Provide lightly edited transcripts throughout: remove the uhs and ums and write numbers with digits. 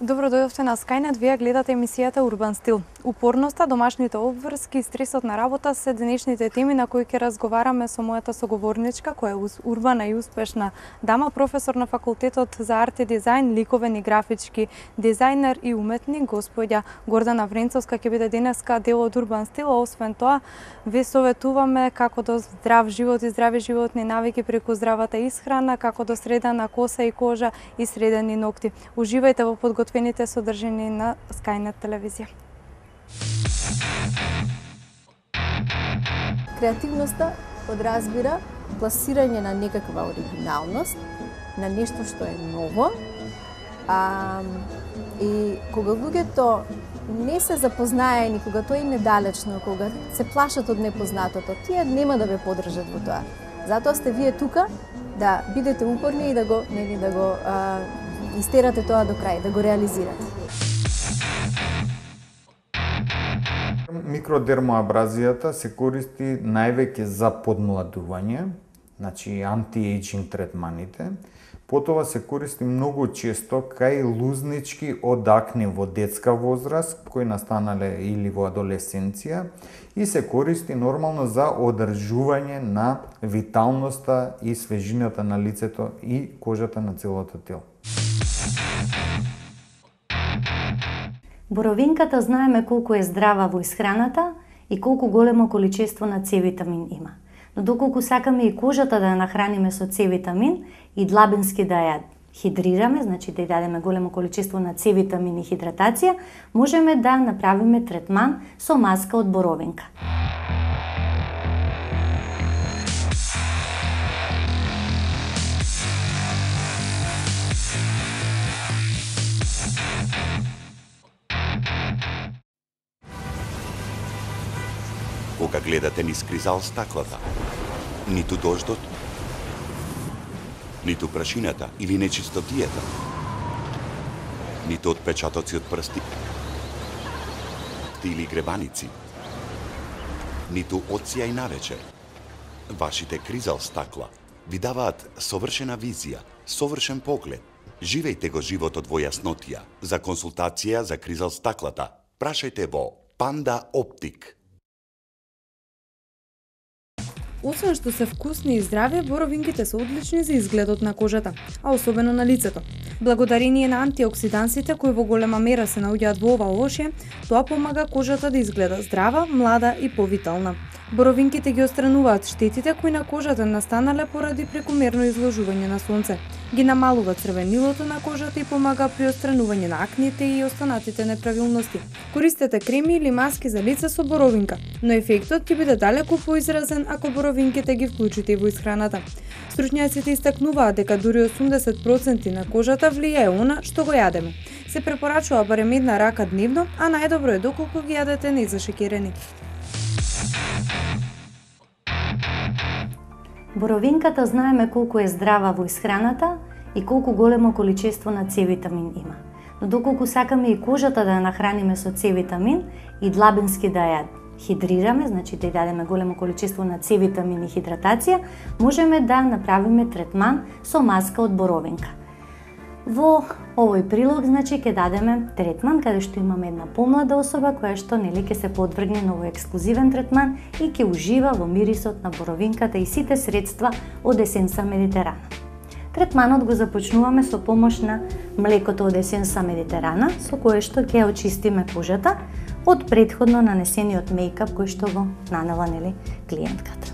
Добро дојдовте на Скајнет, вие гледате емисијата Урбан стил. Упорноста, домашните обврски и стресот на работа се денешните теми на кои ќе разговараме со мојата соговорничка, која е урбана и успешна дама, професор на факултетот за арт и дизајн, ликовен и графички дизајнер и уметник, господја Гордана Вренцовска ќе биде денеска дел од Урбан стил. Освен тоа, ве советуваме како до здрав живот и здрави животни навики преку здравата исхрана, како до средена коса и кожа и средени ногти. Уживајте во подготвените содржини на Скајнет телевизија. Креативноста подразбира пласирање на некаква оригиналност, на нешто што е ново, и кога луѓето не се запознаени, кога тоа им е далечно, кога се плашат од непознатото, тие нема да ве поддржат во тоа. Затоа сте вие тука да бидете упорни и да го истерате тоа до крај, да го реализирате. Микродермоабразијата се користи највеќе за подмладување, значи анти-ејджинг третманите. Потоа се користи многу често кај лузнички од акне во детска возраст, кои настанале или во адолесценција, и се користи нормално за одржување на виталноста и свежината на лицето и кожата на целото тело. Боровинката знаеме колку е здрава во исхраната и колку големо количество на С-витамин има. Но доколку сакаме и кожата да ја нахраниме со С-витамин и длабински да ја хидрираме, значи да ја дадеме големо количество на С-витамин и хидратација, можеме да направиме третман со маска од боровинка. Кога гледате низ кризал стаклата, ниту дождот, ниту прашината или нечистотијата, ниту отпечатоци од прсти или гребаници, ниту одсија и навечер. Вашите кризал стакла ви даваат совршена визија, совршен поглед. Живејте го животот во јаснотија. За консултација за кризал стаклата, прашајте во Панда Оптик. Освен што се вкусни и здрави, боровинките се одлични за изгледот на кожата, а особено на лицето. Благодарение на антиоксидансите кои во голема мера се наоѓаат во ова овошје, тоа помага кожата да изгледа здрава, млада и повитална. Боровинките ги отстрануваат штетите кои на кожата настанале поради прекомерно изложување на сонце. Ги намалува црвенилото на кожата и помага при отстранување на акните и останатите неправилности. Користете креми или маски за лице со боровинка, но ефектот ќе биде далеку поизразен ако боровинките ги вклучите во исхраната. Стручњаците истакнуваат дека дури 80% на кожата влијае она што го јадеме. Се препорачува барем една рака дневно, а најдобро е доколку ги јадете незашекерени. Боровинката знаеме колку е здрава во исхраната и колку големо количество на С-витамин има. Но доколку сакаме и кожата да ја нахраниме со С-витамин и длабински да ја хидрираме, значи да ја дадеме големо количество на С-витамин и хидратација, можеме да направиме третман со маска од боровинка. Во овој прилог, значи, ќе дадеме третман каде што имаме една помлада особа која што ќе се подвргне на овој ексклузивен третман и ќе ужива во мирисот на боровинката и сите средства од Есенса Медитерана. Третманот го започнуваме со помош на млекото од Есенса Медитерана, со кое што ќе очистиме кожата од претходно нанесениот мејкап кој што го нанела клиентката.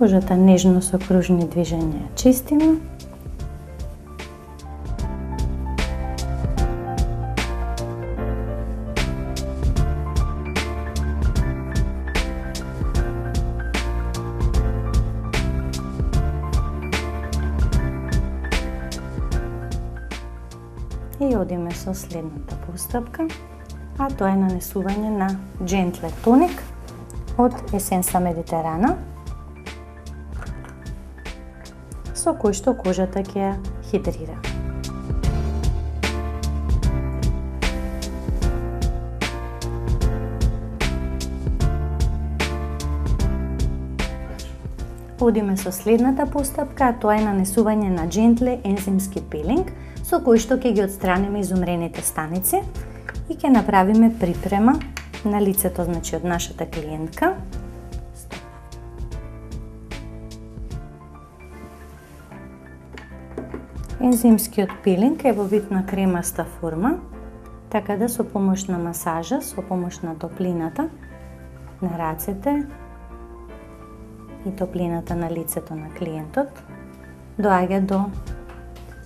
Кожата нежно со кружни движења ја чистиме. И одиме со следната постапка, а тоа е нанесување на Gentle Tonic од Essenza Mediterrana, со кој што кожата ќе ја хидрира. Одиме со следната постапка, а тоа е нанесување на Gentle ензимски пилинг, со кој што ќе ги отстраниме изумрените станици и ќе направиме припрема на лицето, значи од нашата клиентка. Ензимскиот пилинг е во вид на кремаста форма, така да со помош на масажа, со помош на топлината на рацете и топлината на лицето на клиентот, доаѓа до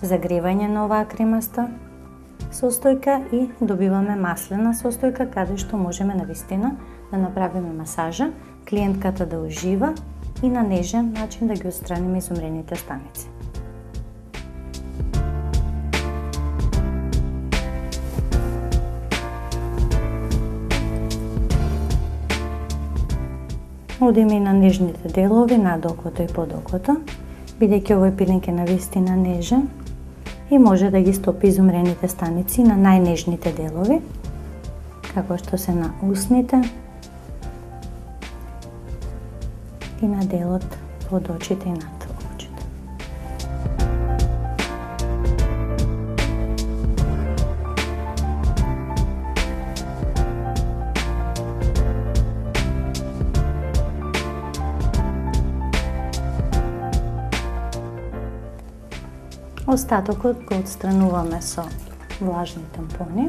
загревање на оваа кремаста состојка и добиваме маслена состојка, каде што можеме навистина да направиме масажа, клиентката да ужива и на нежен начин да ги отстраниме изумрените станици. Одиме и на нежните делови, над окото и под окото, бидејќи овој пилинг е навистина нежен и може да ги стопи изумрените станици на најнежните делови, како што се на усните и на делот под очите и над очите. Остатокот го отстрануваме со влажни тампони.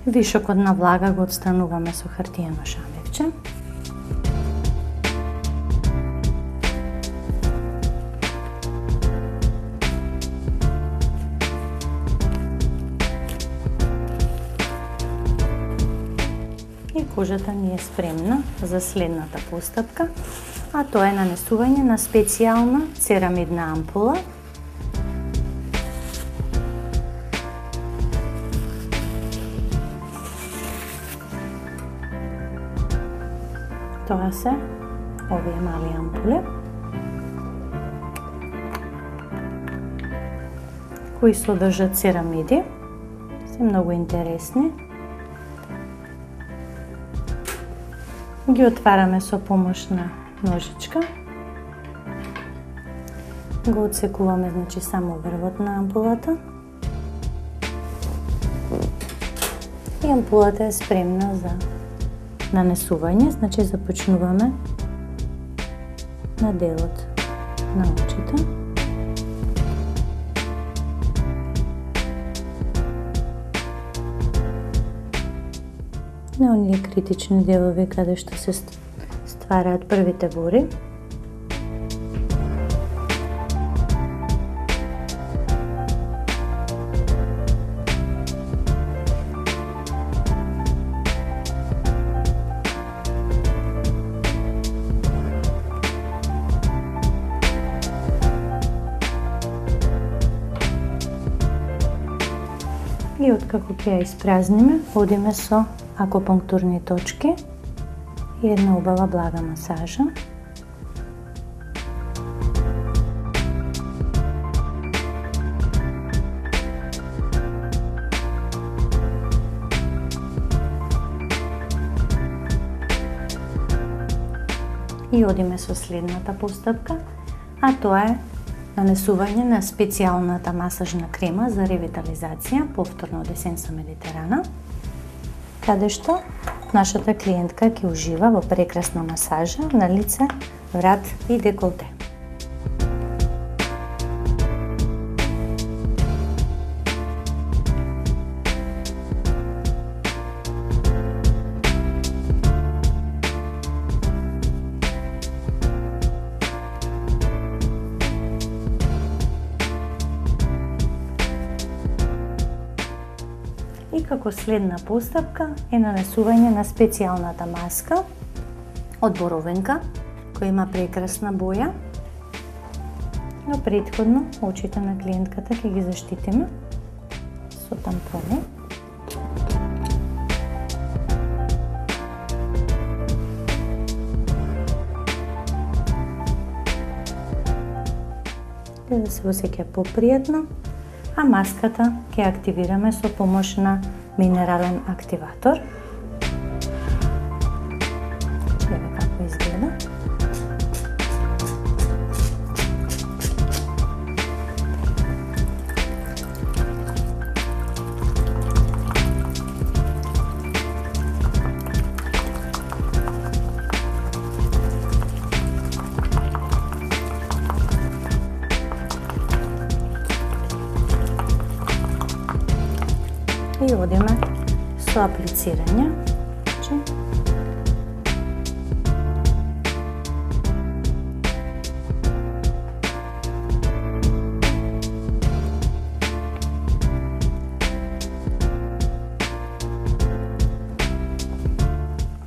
Вишокот на влага го отстрануваме со хартиено шамевче. И кожата ни е спремна за следната постапка, а тоа е нанесување на специјална церамидна ампула. Тоа се овие мали ампули, кои содржат церамиди, се многу интересни. Ги отвараме со помош на ножичка. Го отсекуваме, значи, само врвот на ампулата. И ампулата е спремна за нанесување, значи започнуваме на делот на очите. На оние критични делови каде што се ствараат првите бори. И откако ќе ја испразниме, одиме со акупунктурни точки и една убава блага масажа. И одиме со следната постапка, а тоа е нанесување на специјалната масажна крема за ревитализација, повторно од Essenza Mediterrana, каде што нашата клиентка ќе ужива во прекрасна масажа на лице, врат и деколте. И како следна постапка е нанесување на специјалната маска од боровинка, која има прекрасна боја. Но претходно очите на клиентката ќе ги заштитиме со тампони. Да се осеќа попријатно, а маската ќе активираме со помош на минерален активатор. Еве како изгледа. И одиме со аплицирање.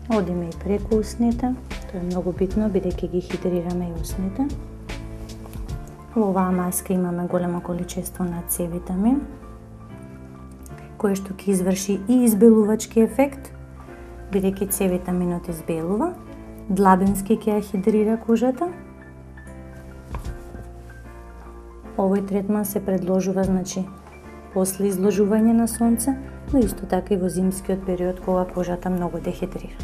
Одиме и преку усните. Тоа е многу битно, бидејќи ги хидрираме и усните. Во оваа маска имаме големо количество на С витамин, кој што ќе изврши и избелувачки ефект, бидејќи С витаминот избелува, длабински ќе ја хидрира кожата. Овој третман се предложува, после изложување на сонце, но исто така и во зимскиот период кога кожата многу дехидрира.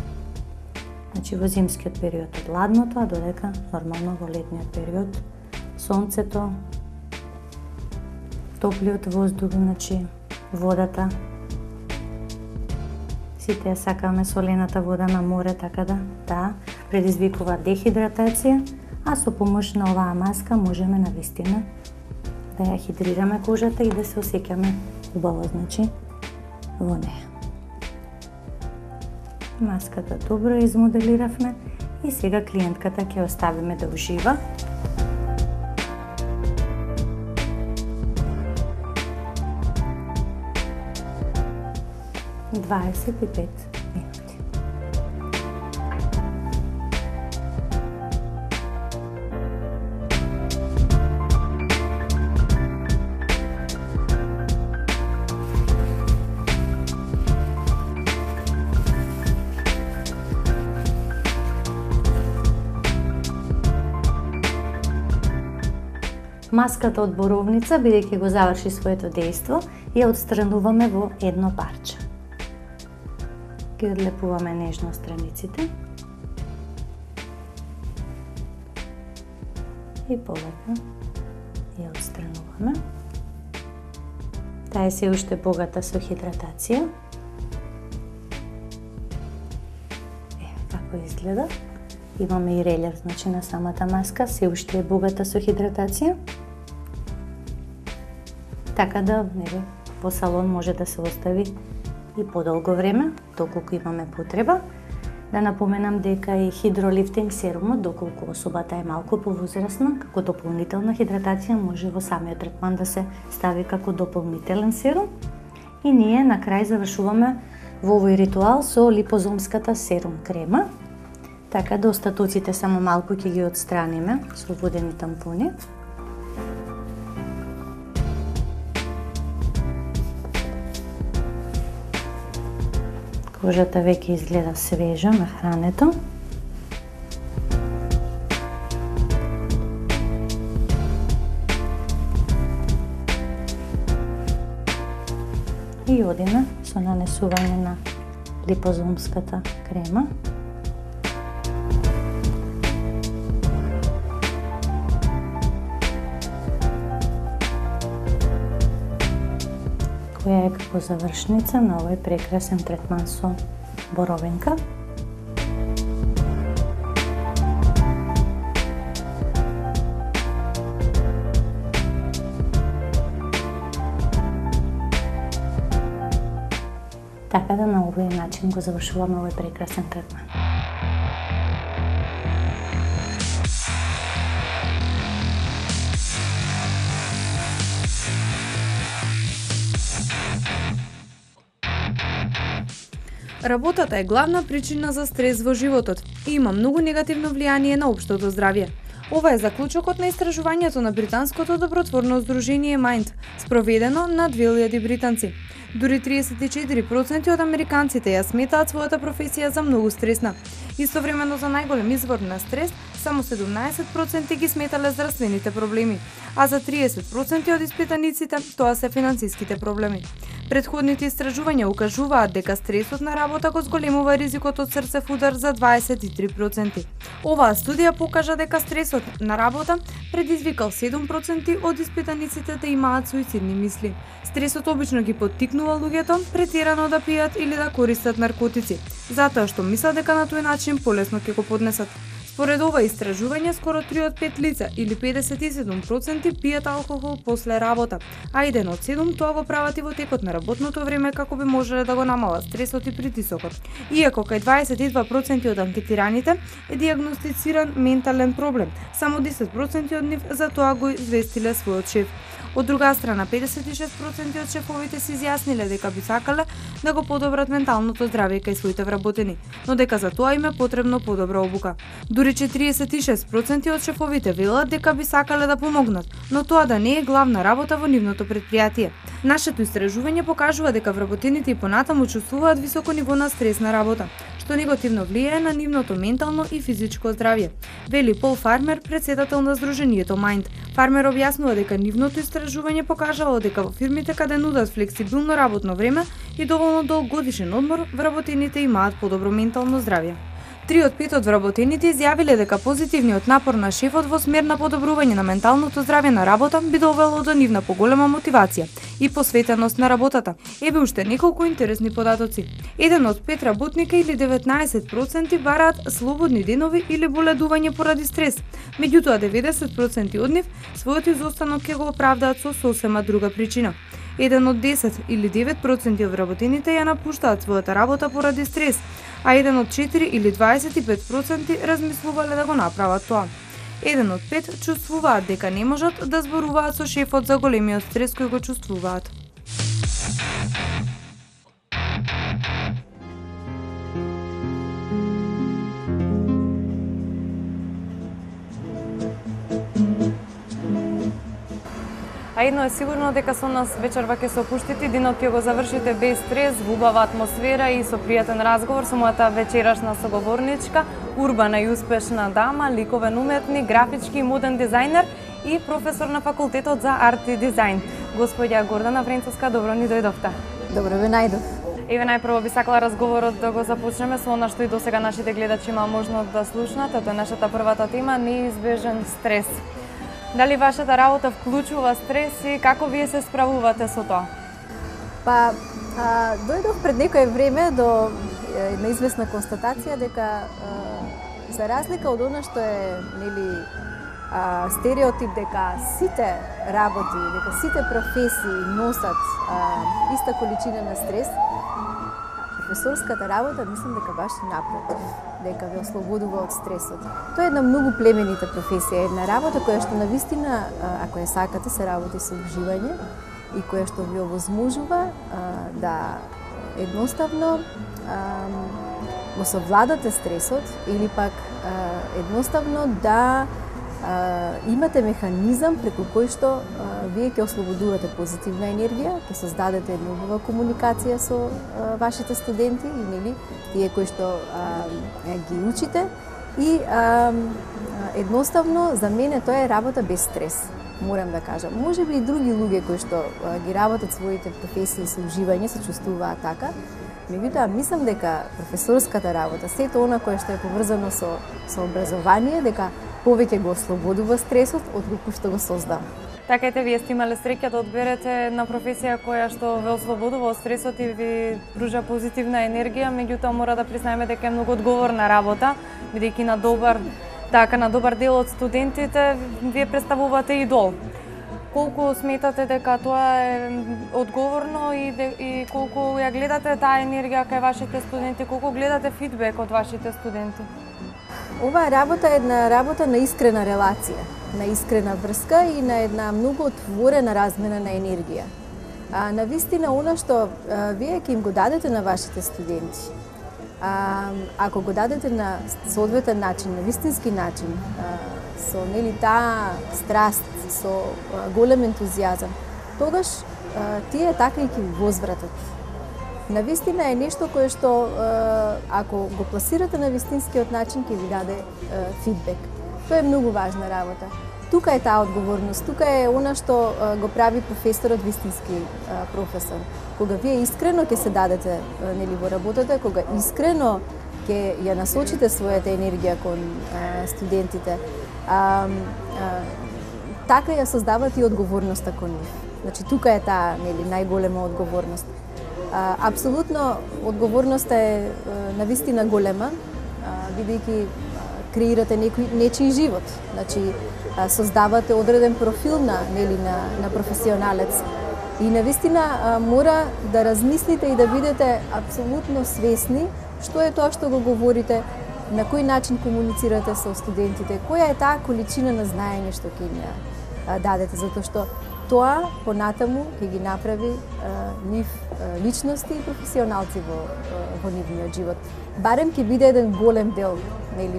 Во зимскиот период од ладното, а додека нормално во летниот период сонцето, топлиот воздух, водата. Сите ја сакаме солената вода на море, така да предизвикува дехидратација, а со помош на оваа маска можеме навистина да ја хидрираме кожата и да се осеќаме убаво, во неја. Маската добро измоделиравме и сега клиентката ќе оставиме да ужива. Дваесет и 5 минути. Маската од боровница, бидејќи го заврши своето дејство, ја отстрануваме во едно парче. Ги одлепуваме нежно страниците и полека ја отстрануваме. Таа е се уште богата со хидратација. Како изгледа. Имаме и релјеф, на самата маска, се уште е богата со хидратација. Така да, по салон може да се остави и подолго време, доколку имаме потреба. Да напоменам дека и хидролифтинг серумот, доколку особата е малку повозрасна, како дополнителна хидратација може во самиот третман да се стави како дополнителен серум. И ние на крај завршуваме во овој ритуал со липозомската серум крема. Така да остатоците само малку ќе ги отстраниме со водени тампони. Кожата веќе изгледа свежа на хрането. И одиме со нанесување на липозомската крема. Која е како завршница на овој прекрасен третман со Боровинка. Така да на овој начин го завршуваме овој прекрасен третман. Работата е главна причина за стрес во животот и има многу негативно влијание на општото здравје. Ова е заклучокот на истражувањето на британското добротворно здружение Mind, спроведено на 2000 британци. Дури 34% од американците ја сметаат својата професија за многу стресна. Истовремено за најголем извор на стрес, само 17% ги сметале здравствените проблеми, а за 30% од испитаниците тоа се финансиските проблеми. Предходните истражувања укажуваат дека стресот на работа го зголемува ризикот од срцев удар за 23%. Оваа студија покажа дека стресот на работа предизвикал 7% од испитаниците да имаат суицидни мисли. Стресот обично ги поттикнува луѓето претерано да пијат или да користат наркотици, затоа што мислат дека на тој начин полесно ќе го поднесат. Според ова истражување, скоро 3 од 5 лица или 57% пијат алкохол после работа, а 1 од 7 тоа го прават и во текот на работното време како би можеле да го намалат стресот и притисокот. Иако кај 22% од анкетираните е дијагностициран ментален проблем, само 10% од нив за тоа го известиле својот шеф. Од друга страна, 56% од шефовите се изјасниле дека би сакале да го подобрат менталното здравје кај своите вработени, но дека за тоа им е потребно подобра обука. Дури 46% од шефовите велат дека би сакале да помогнат, но тоа да не е главна работа во нивното претпријатие. Нашето истражување покажува дека вработените и понатаму чувствуваат високо ниво на стрес на работа, што негативно влијае на нивното ментално и физичко здравје, вели Пол Фармер, председател на здружението Mind. Фармер објаснува дека нивното истражување покажало дека во фирмите каде нудат флексибилно работно време и доволно долг годишен одмор, вработените имаат подобро ментално здравје. 3 од 5 од вработените изјавиле дека позитивниот напор на шефот во смер на подобрување на менталното здравје на работа би довело до нивна поголема мотивација и посветеност на работата. Еве уште неколку интересни податоци. 1 од 5 работника или 19% бараат слободни денови или боледување поради стрес. Меѓутоа 90% од нив својот изостанок ќе го оправдаат со сосема друга причина. 1 од 10 или 9% од вработените ја напуштаат својата работа поради стрес, а 1 од 4 или 25% размислувале да го направат тоа. 1 од 5 чувствуваат дека не можат да зборуваат со шефот за големиот стрес кој го чувствуваат. А едно е сигурно дека со нас вечерва ќе се опуштите, денот ќе го завршите без стрес, во убава атмосфера и со пријатен разговор со мојата вечерашна соговорничка, урбана и успешна дама, ликовен уметник, графички и моден дизајнер и професор на факултетот за арт и дизајн. Господја Гордана Вренцовска, добро ни дојдовте. Добро ве најдов. Еве најпрво би сакала разговорот да го започнеме со она што и досега нашите гледачи има можност да слушнат, тоа е нашата првата тема, неизбежен стрес. Дали вашата работа вклучува стрес и како вие се справувате со тоа? Па, дојдов пред некое време до една известна констатација дека за разлика од она што е стереотип дека сите работи, дека сите професии носат иста количина на стрес, професорската работа мислам дека баш напротив, дека ве ослободува од стресот. Тоа е една многу племенита професија, една работа која што навистина, ако ја сакате, се работи со уживање и која што ви овозможува да едноставно го совладате стресот или пак едноставно да имате механизам преку кој што вие ќе ослободувате позитивна енергија, ќе создадете една убава комуникација со вашите студенти и нели тие кои што ги учите и едноставно за мене тоа е работа без стрес. Морам да кажам, можеби и други луѓе кои што ги работат своите професии со уживање се чувствуваат така. Меѓутоа, мислам дека професорската работа, сето она кое што е поврзано со образование, дека повеќе го ослободува стресот од колку што го создава. Така ете, вие сте имале среќа да одберете една професија која што ве ослободува од стресот и ви пружа позитивна енергија, меѓутоа мора да признаеме дека е многу одговорна работа, бидејќи на добар дел од студентите вие представувате идол. Колку сметате дека тоа е одговорно и колку ја гледате таа енергија кај вашите студенти, колку гледате фидбек од вашите студенти? Оваа работа е една работа на искрена релација, на искрена врска и на една многу отворена размена на енергија. Навистина, она што вие ќе им го дадете на вашите студенти, ако го дадете на соодветен начин, на вистински начин, со таа страст, со голем ентузијазам, тогаш тие така и ќе ви возвратат. Навистина е нешто кое што, ако го пласирате на вистинскиот начин, ќе ви даде фидбек. Тоа е многу важна работа. Тука е таа одговорност, тука е она што го прави професорот вистински професор. Кога вие искрено ќе се дадете во работата, кога искрено ќе ја насочите својата енергија кон студентите, така ја создавате и одговорноста кон нив. Значи, тука е таа најголема одговорност. Апсолутно, одговорноста е навистина голема, бидејќи креирате нечии живот. Значи, создавате одреден профил на професионалец. И навистина мора да размислите и да бидете апсолутно свесни што е тоа што го говорите, на кој начин комуницирате со студентите, која е таа количина на знаење што ќе им дадете, затоа што тоа понатаму ќе ги направи нив личности и професионалци во нивниот живот. Барем ќе биде еден голем дел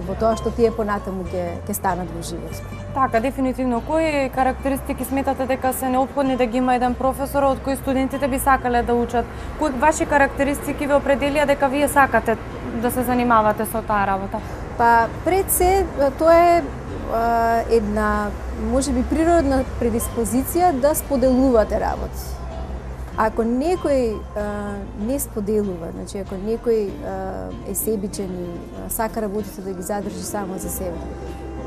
во тоа што тие понатаму ќе станат во живот. Така, дефинитивно. Кои карактеристики сметате дека се неопходни да ги има еден професор од кои студентите би сакале да учат? Кои ваши карактеристики ве определија дека вие сакате да се занимавате со таа работа? Па, пред се, тоа е една, можеби, природна предиспозиција да споделувате работи. Ако некој не споделува, значи ако некој е себичен и сака работите да ги задржи само за себе,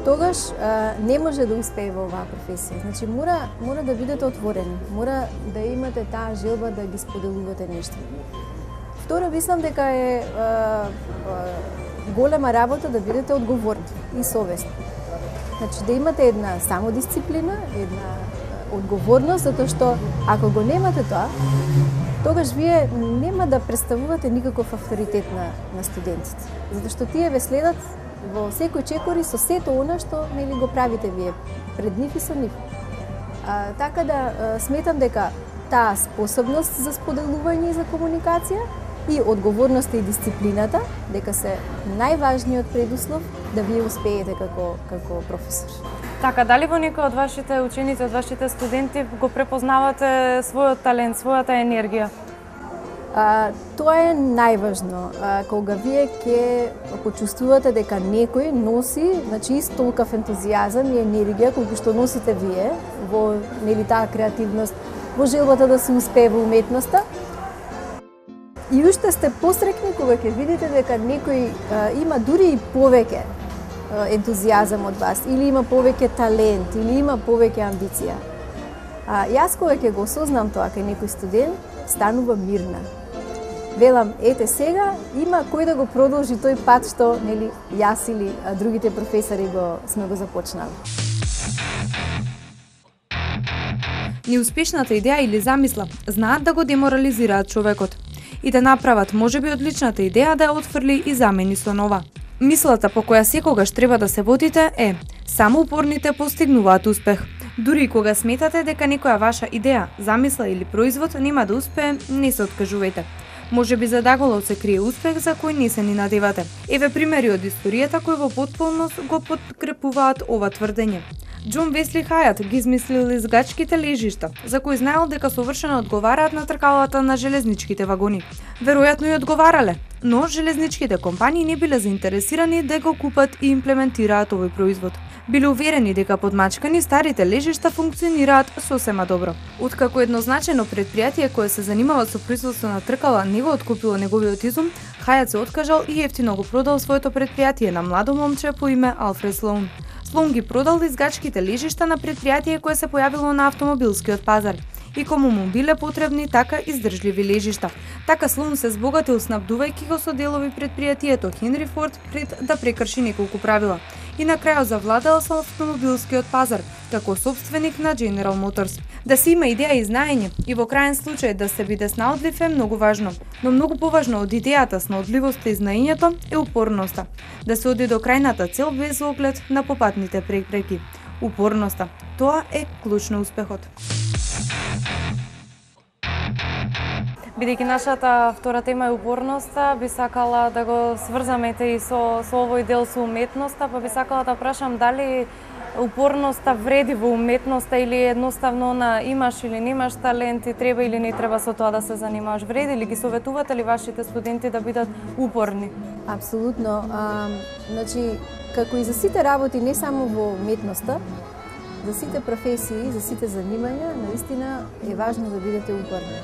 тогаш не може да успее во оваа професија. Значи мора да бидете отворени, мора да имате таа желба да ги споделувате нешто. Второ, мислам дека е голема работа да бидете одговорни и совесни. Значи да имате една самодисциплина, една одговорност, затоа што ако го немате тоа, тогаш вие нема да представувате никаков авторитет на студентите. Затоа што тие ве следат во секој чекор и со сето она што го правите вие пред нив и со нив. Така да сметам дека таа способност за споделување и за комуникација и одговорноста и дисциплината дека се најважниот предуслов да вие успеете како професор. Така, дали во некој од вашите ученици, од вашите студенти го препознавате својот талент, својата енергија? Тоа е најважно. Кога вие ќе почувствувате дека некој носи, значи, исто толков ентузијазам и енергија колку што носите вие во таа креативност, во желбата да се успее во уметноста, и уште сте посрекни кога ќе видите дека некој има дури и повеќе ентузијазам од вас, или има повеќе талент, или има повеќе амбиција. Јас кога ќе го осознам тоа кај некој студент, станува мирна. Велам, ете сега има кој да го продолжи тој пат што јас или другите професори сме го започнали. Неуспешната идеја или замисла знаат да го деморализираат човекот и да направат можеби одличната идеја да ја отфрли и замени со нова. Мислата по која секогаш треба да се водите е: само упорните постигнуваат успех. Дури и кога сметате дека некоја ваша идеја, замисла или производ нема да успее, не се откажувајте. Можеби за Даголов се крие успех за кој не се ни надевате. Еве примери од историјата кои во потполност го подкрепуваат ова тврдење. Џон Весли Хајат ги измислил изгачките лежишта, за кои знаел дека совршено одговараат на тркалата на железничките вагони. Веројатно и одговарале, но железничките компании не биле заинтересирани да го купат и имплементираат овој производ. Биле уверени дека подмачкани старите лежишта функционираат сосема добро. Откако еднозначено предпријатие кое се занимава со производство на тркала не го откупило неговиот изум, Хајат се откажал и ефтино го продал своето предпријатие на младо момче по име Алфред Слоун. Слон ги продал изгачките лежишта на претпријатие кое се појавило на автомобилскиот пазар и кому му биле потребни така издржливи лежишта. Така Слон се збогатил снабдувајќи го со делови претпријатието Хенри Форд пред да прекрши неколку правила и на крајот завладел со автомобилскиот пазар како собственик на General Motors. Да се има идеја и знаење и во крајен случај да се биде снаодлив е многу важно, но многу поважно од идејата, снаодливоста и знаењето е упорноста. Да се оди до крајната цел без оглед на попатните препреки. Упорноста, тоа е клуч на успехот. Бидејќи нашата втора тема е упорноста, би сакала да го сврзаме и со овој дел со уметноста, па би сакала да прашам дали упорноста вреди во уметноста или едноставно имаш или немаш талент и треба или не треба со тоа да се занимаваш. Вреди ли, ги советувате ли вашите студенти да бидат упорни? Апсолутно. Значи, како и за сите работи, не само во уметноста, за сите професии, за сите занимања, наистина е важно да бидете упорни.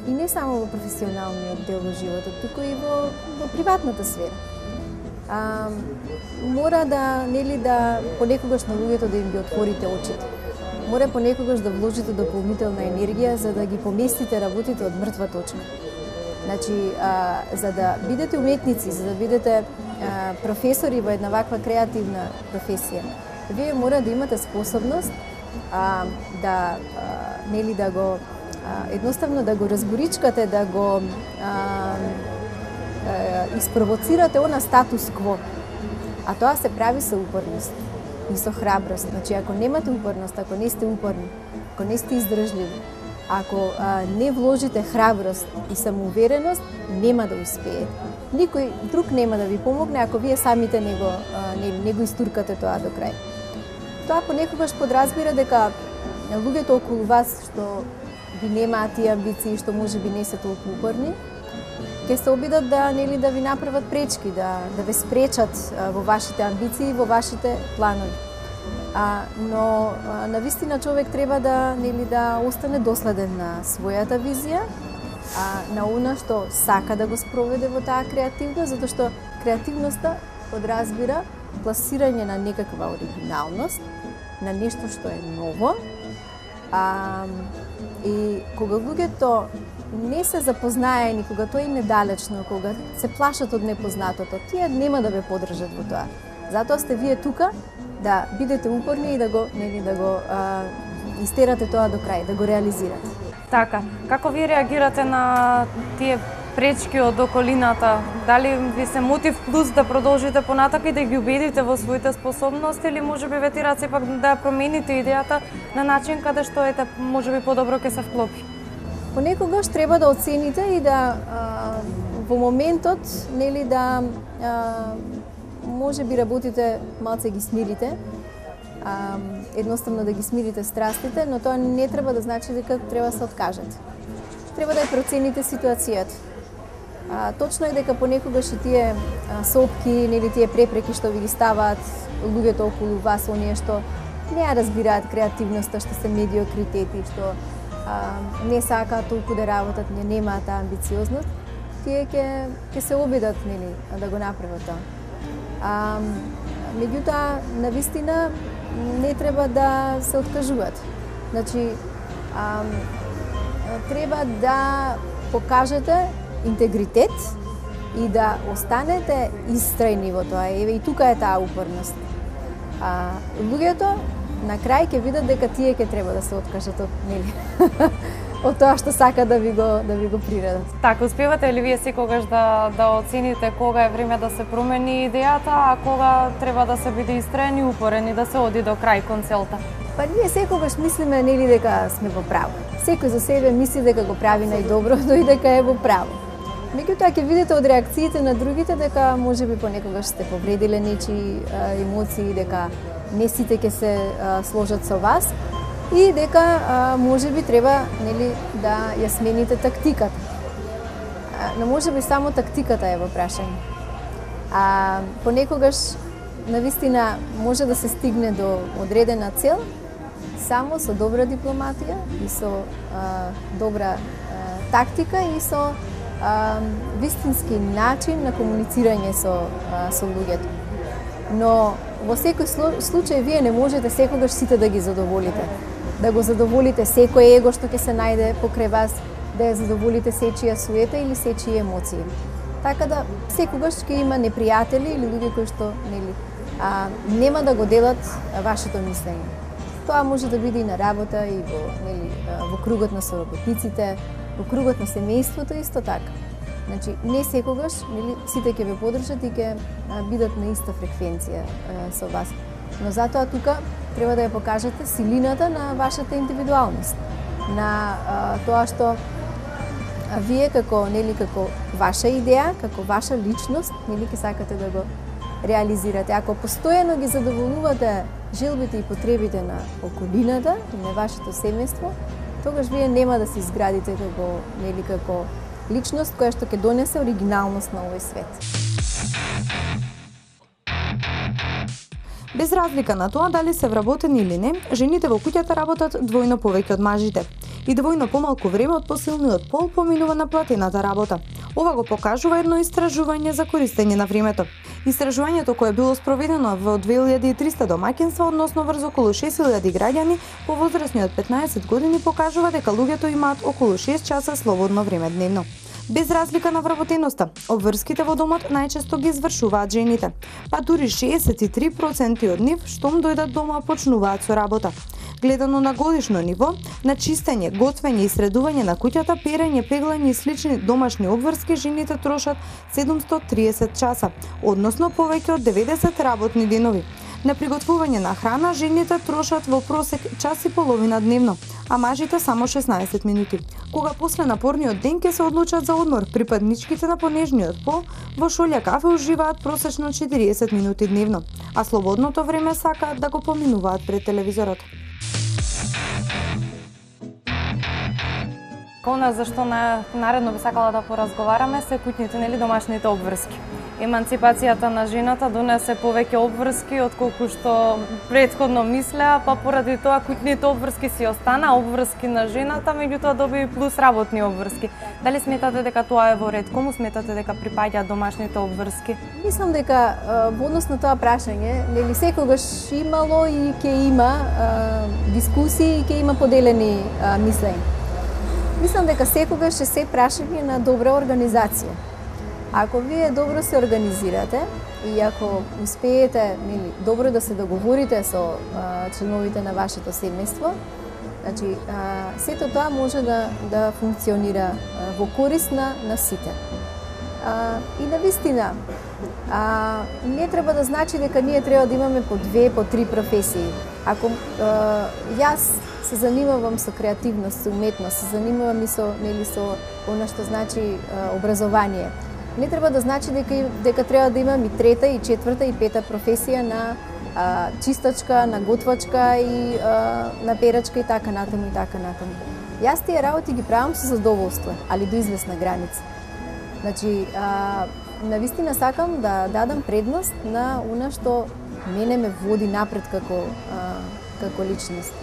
И не само во професионалниот дел во животот, туку и во приватната сфера. Мора да понекогаш на луѓето да им ги отворите очите. Мора понекогаш да вложите дополнителна енергија за да ги поместите работите од мртва точка. Значи, за да бидете уметници, за да бидете професори во една ваква креативна професија, вие мора да имате способност да го едноставно да го разборичкате, да го испровоцирате она статус кво. А тоа се прави со упорност и со храброст. Значи, ако немате упорност, ако не сте упорни, ако не сте издржливи, ако не вложите храброст и самоувереност, нема да успеете. Никој друг нема да ви помогне ако вие самите не го истуркате тоа до крај. Тоа понекогаш подразбира дека луѓето околу вас што ви немаат тие амбиции, што можеби не се толку упорни, ќе се обидат да ви направат пречки, да ве спречат во вашите амбиции, во вашите планови. Но навистина човек треба да остане доследен на својата визија, на она што сака да го спроведе во таа креативност, затоа што креативноста подразбира пласирање на некаква оригиналност, на нешто што е ново. И кога луѓето не се запознаени, кога тоа им е далечно, кога се плашат од непознатото, тие нема да ве поддржат во тоа. Затоа сте вие тука да бидете упорни и да го истерате тоа до крај, да го реализирате. Така, како ви реагирате на тие пречки од околината? Дали ви се мотив плюс да продолжите понатака и да ги убедите во своите способности или можеби ве тираат сепак да промените идејата на начин каде што можеби подобро ќе се вклопи? Понекогаш треба да оцените и да во моментот можеби работите малце ги смирите, едноставно да ги смирите страстите, но тоа не треба да значи дека треба да се откажете. Треба да ја процените ситуацијата. Точно е дека понекогаш и тие сопки, тие препреки што ви ги ставаат луѓето околу вас, оние што не ја разбираат креативноста, што се медиокритети, што не сакаат толку да работат, не немаат таа амбициозност, тие ќе се обидат да го направат тоа. Меѓутоа, навистина не треба да се откажуваат. Значи, треба да покажете интегритет и да останете истрајни во тоа. И тука е таа упорност. Луѓето на крај ќе видат дека тие ќе треба да се откажат од тоа што сака да ви го приредат. Така, успевате ли вие секогаш да оцените кога е време да се промени идејата, а кога треба да се биде истраен и упорен и да се оди до крај кон целта? Па ние секогаш мислиме дека сме во право. Секој за себе мисли дека го прави најдобро, но и дека е во право. Меѓутоа ќе видите од реакциите на другите дека можеби понекогаш сте повредиле нечии емоции, дека не сите ќе се сложат со вас и дека можеби треба да ја смените тактиката. Но можеби само тактиката е во прашање. Понекогаш навистина може да се стигне до одредена цел само со добра дипломатија и со добра тактика и со вистински начин на комуницирање со луѓето. Но во секој случај вие не можете секогаш сите да ги задоволите. Да го задоволите секој его што ќе се најде покрај вас, да ја задоволите сечија суета или сечија емоции. Така да секогаш ќе има непријатели или луѓе кои што нема да го делат вашето мислење. Тоа може да биде и на работа и во кругот на соработниците, во кругот на семејството исто така. Значи не секогаш сите ќе ве подржат и ќе бидат на иста фреквенција со вас. Но затоа тука треба да ја покажете силината на вашата индивидуалност, на тоа што вие како ваша идеја, како ваша личност, ќе сакате да го реализирате. Ако постојано ги задоволувате желбите и потребите на околината и на вашето семејство, тогаш вие нема да се изградите како личност која што ќе донесе оригиналност на овој свет. Без разлика на тоа дали се вработени или не, жените во куќата работат двојно повеќе од мажите и двојно помалку време од посилниот пол поминува на платената работа. Ова го покажува едно истражување за користење на времето. Истражувањето кое било спроведено во 2300 домаќинства, односно врз околу 6000 граѓани повозрасни од 15 години, покажува дека луѓето имаат околу 6 часа слободно време дневно. Без разлика на вработеноста, обврските во домот најчесто ги извршуваат жените, па дури 63% од нив штом дојдат дома почнуваат со работа. Гледано на годишно ниво, на чистење, готвење и средување на куќата, перење, пеглање и слични домашни обврски жените трошат 730 часа, односно повеќе од 90 работни денови. На приготвување на храна жените трошат во просек час и половина дневно, а мажите само 16 минути. Кога после напорниот ден ќе се одлучат за одмор, припадничките на понежниот пол во шолја кафе уживаат просечно 40 минути дневно, а слободното време сакаат да го поминуваат пред телевизорот. Она зашто наредно би сакала да поразговараме се куќните, домашните обврски. Еманципацијата на жената донесе повеќе обврски отколку што претходно мислеа, па поради тоа куќните обврски си остана обврски на жената, меѓутоа доби плюс работни обврски. Дали сметате дека тоа е во ред? Кому сметате дека припаѓаат домашните обврски? Мислам дека во однос на тоа прашање, секогаш имало и ќе има дискусии и ќе има поделени мислења. Мислам дека секогаш е се прашање на добра организација. Ако вие добро се организирате и ако успеете добро да се договорите со членовите на вашето семејство, значи сето тоа може да функционира во корист на сите. И навистина, не треба да значи дека ние треба да имаме по 2, по 3 професии. Ако јас се занимавам со креативност, со уметност, се занимавам и со она што значи образование, не треба да значи дека треба да имам и 3-та, и 4-та, и 5-та професија на чистачка, на готвачка и на перачка и така натаму и така натаму. Јас тие работи ги правам со задоволство, али до известна граница. Значи, навистина сакам да дадам предност на она што мене ме води напред како личност.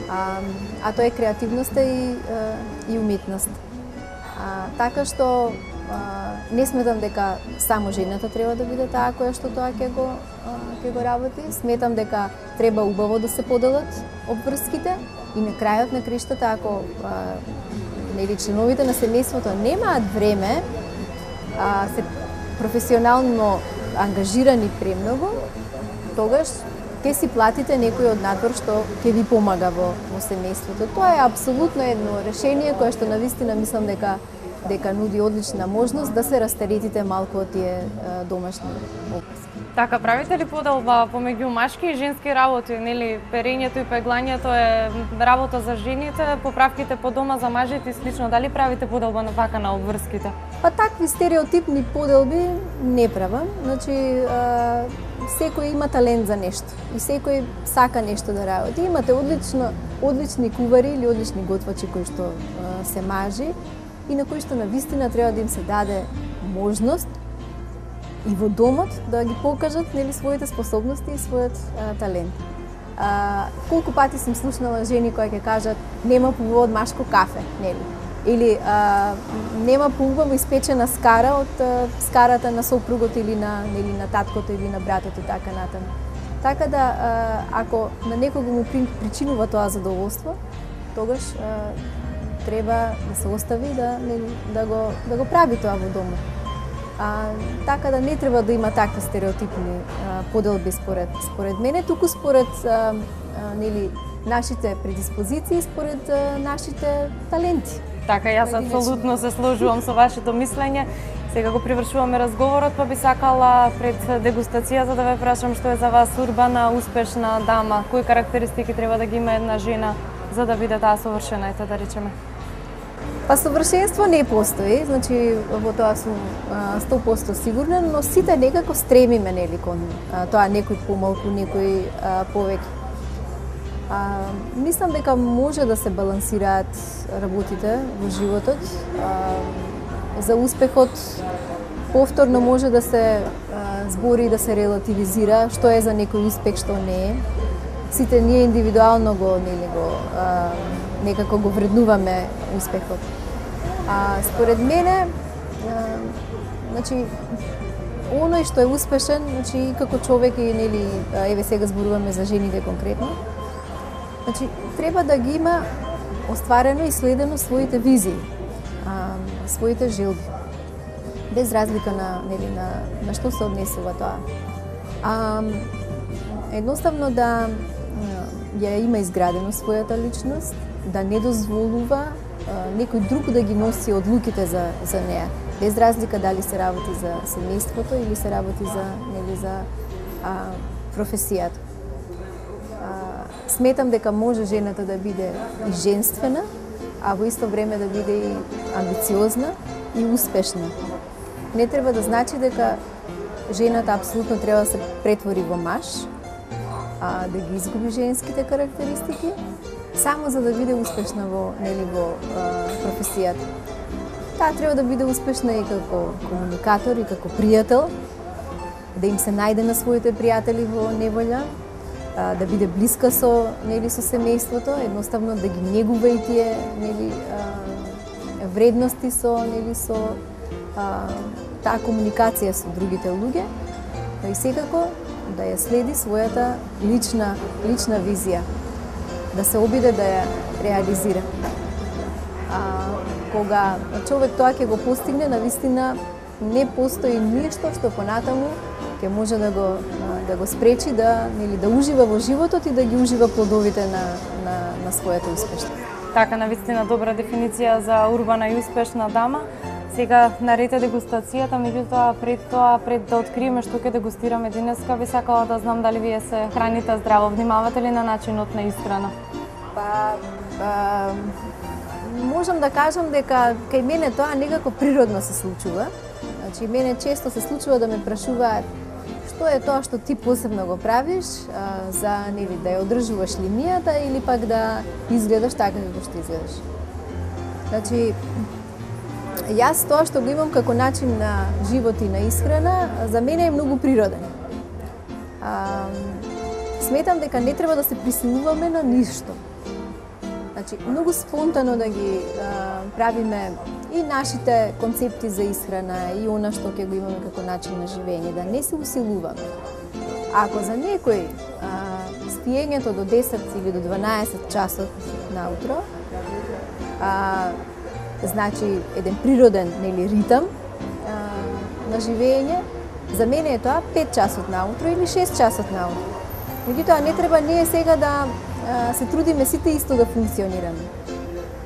А тоа е креативноста и уметност. Така што не сметам дека само жената треба да биде таа која што тоа ќе го работи. Сметам дека треба убаво да се поделат обврските и на крајот на криштата, ако членовите на семејството немаат време, се професионално ангажирани премногу, тогаш ќе си платите некој од надвор што ќе ви помага во семејството. Тоа е апсолутно едно решение кое што навистина мислам дека нуди одлична можност да се растеретите малку од тие домашни обврски. Така, правите ли поделба помеѓу машки и женски работи? Перењето и пеглањето е работа за жените, поправките по дома за мажите и слично. Дали правите поделба на вака на обврските? Па такви стереотипни поделби не правам. Значи, секој има талент за нешто и секој сака нешто да работи. Имате одлични кувари или одлични готвачи кои што се мажи и на кои што навистина треба да им се даде можност и во домот да ги покажат своите способности и својот талент. Колку пати сум слушнала жени кои ќе кажат нема повод машко кафе, Или нема пумпа испечена скара од скарата на сопругот или на таткото или на братот и така натаму. Така да ако на некого му причинува тоа задоволство, тогаш треба да се остави да го прави тоа во домот. Така да не треба да има такви стереотипни поделби според мене, туку според нашите предиспозиции, според нашите таленти. Така, јас апсолутно се сложувам со вашето мислење. Сега го привршуваме разговорот, па би сакала пред дегустацијата да ве прашам што е за вас урбана, успешна дама, кои карактеристики треба да ги има една жена за да биде таа совршена, ете да речеме. Па совршенство не постои, значи во тоа сум 100% сигурна, но сите некако стремиме нели кон тоа, некој помалку, некој повеќе. Мислам дека може да се балансираат работите во животот. За успехот повторно може да се збори и да се релативизира што е за некој успех, што не е. Сите ние индивидуално некако го вреднуваме успехот. Според мене, значи, оној што е успешен, значи, како човек и нели, еве сега зборуваме за жените конкретно, значи, треба да ги има остварено и следено своите визии, своите желби, без разлика на што се однесува тоа. Едноставно да ја има изградено својата личност, да не дозволува некој друг да ги носи одлуките за неа, без разлика дали се работи за семејството или се работи за професијата. Сметам дека може жената да биде и женствена, а во исто време да биде и амбициозна и успешна. Не треба да значи дека жената апсолутно треба да се претвори во маж, да ги изгуби женските карактеристики, само за да биде успешна во професијата. Таа треба да биде успешна и како комуникатор, и како пријател, да им се најде на своите пријатели во неволја, да биде блиска со семејството, едноставно да ги негува и тие вредности со таа комуникација со другите луѓе, и секако да ја следи својата лична визија, да се обиде да ја реализира. Кога човек тоа ќе го постигне, навистина не постои ништо што понатаму ќе може да го спречи да ужива во животот и да ги ужива плодовите на својата успешност. Така, навистина добра дефиниција за урбана и успешна дама. Сега нарете дегустацијата, меѓутоа пред да откриеме што ќе дегустираме денеска, би сакала да знам дали вие се храните здраво, внимавате ли на начинот на исхрана? Можам да кажам дека кај мене тоа некако природно се случува. Значи, мене често се случува да ме прашуваат што е тоа што ти посебно го правиш за да ја одржуваш линијата или пак да изгледаш така како што изгледаш. Значи, јас тоа што го имам како начин на живот и на исхрана, за мене е многу природен. Сметам дека не треба да се присилуваме на ништо. Значи, многу спонтано да ги правиме и нашите концепти за исхрана и она што ќе го имаме како начин на живење, да не се усилуваме. Ако за некој спиењето до 10 или до 12 часот наутро значи еден природен ритам на живење, за мене е тоа 5 часот наутро или 6 часот наутро. Меѓутоа не треба ние сега да се трудиме сите исто да функционираме.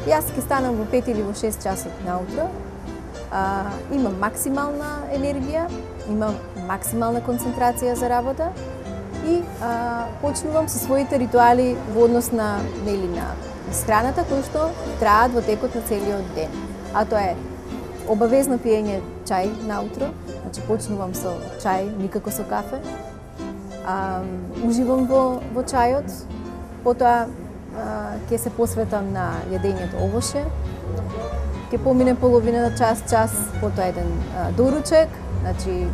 Јас ќе станам во 5 или во 6 часот наутро, имам максимална енергија, имам максимална концентрација за работа и почнувам со своите ритуали во однос на исхраната кои што траат во текот на целиот ден. А тоа е обавезно пиење чај наутро, значи почнувам со чај, никако со кафе. Уживам во чајот, потоа ќе се посветам на јадењето овоше, ќе помине половина час, потоа еден доручек, значи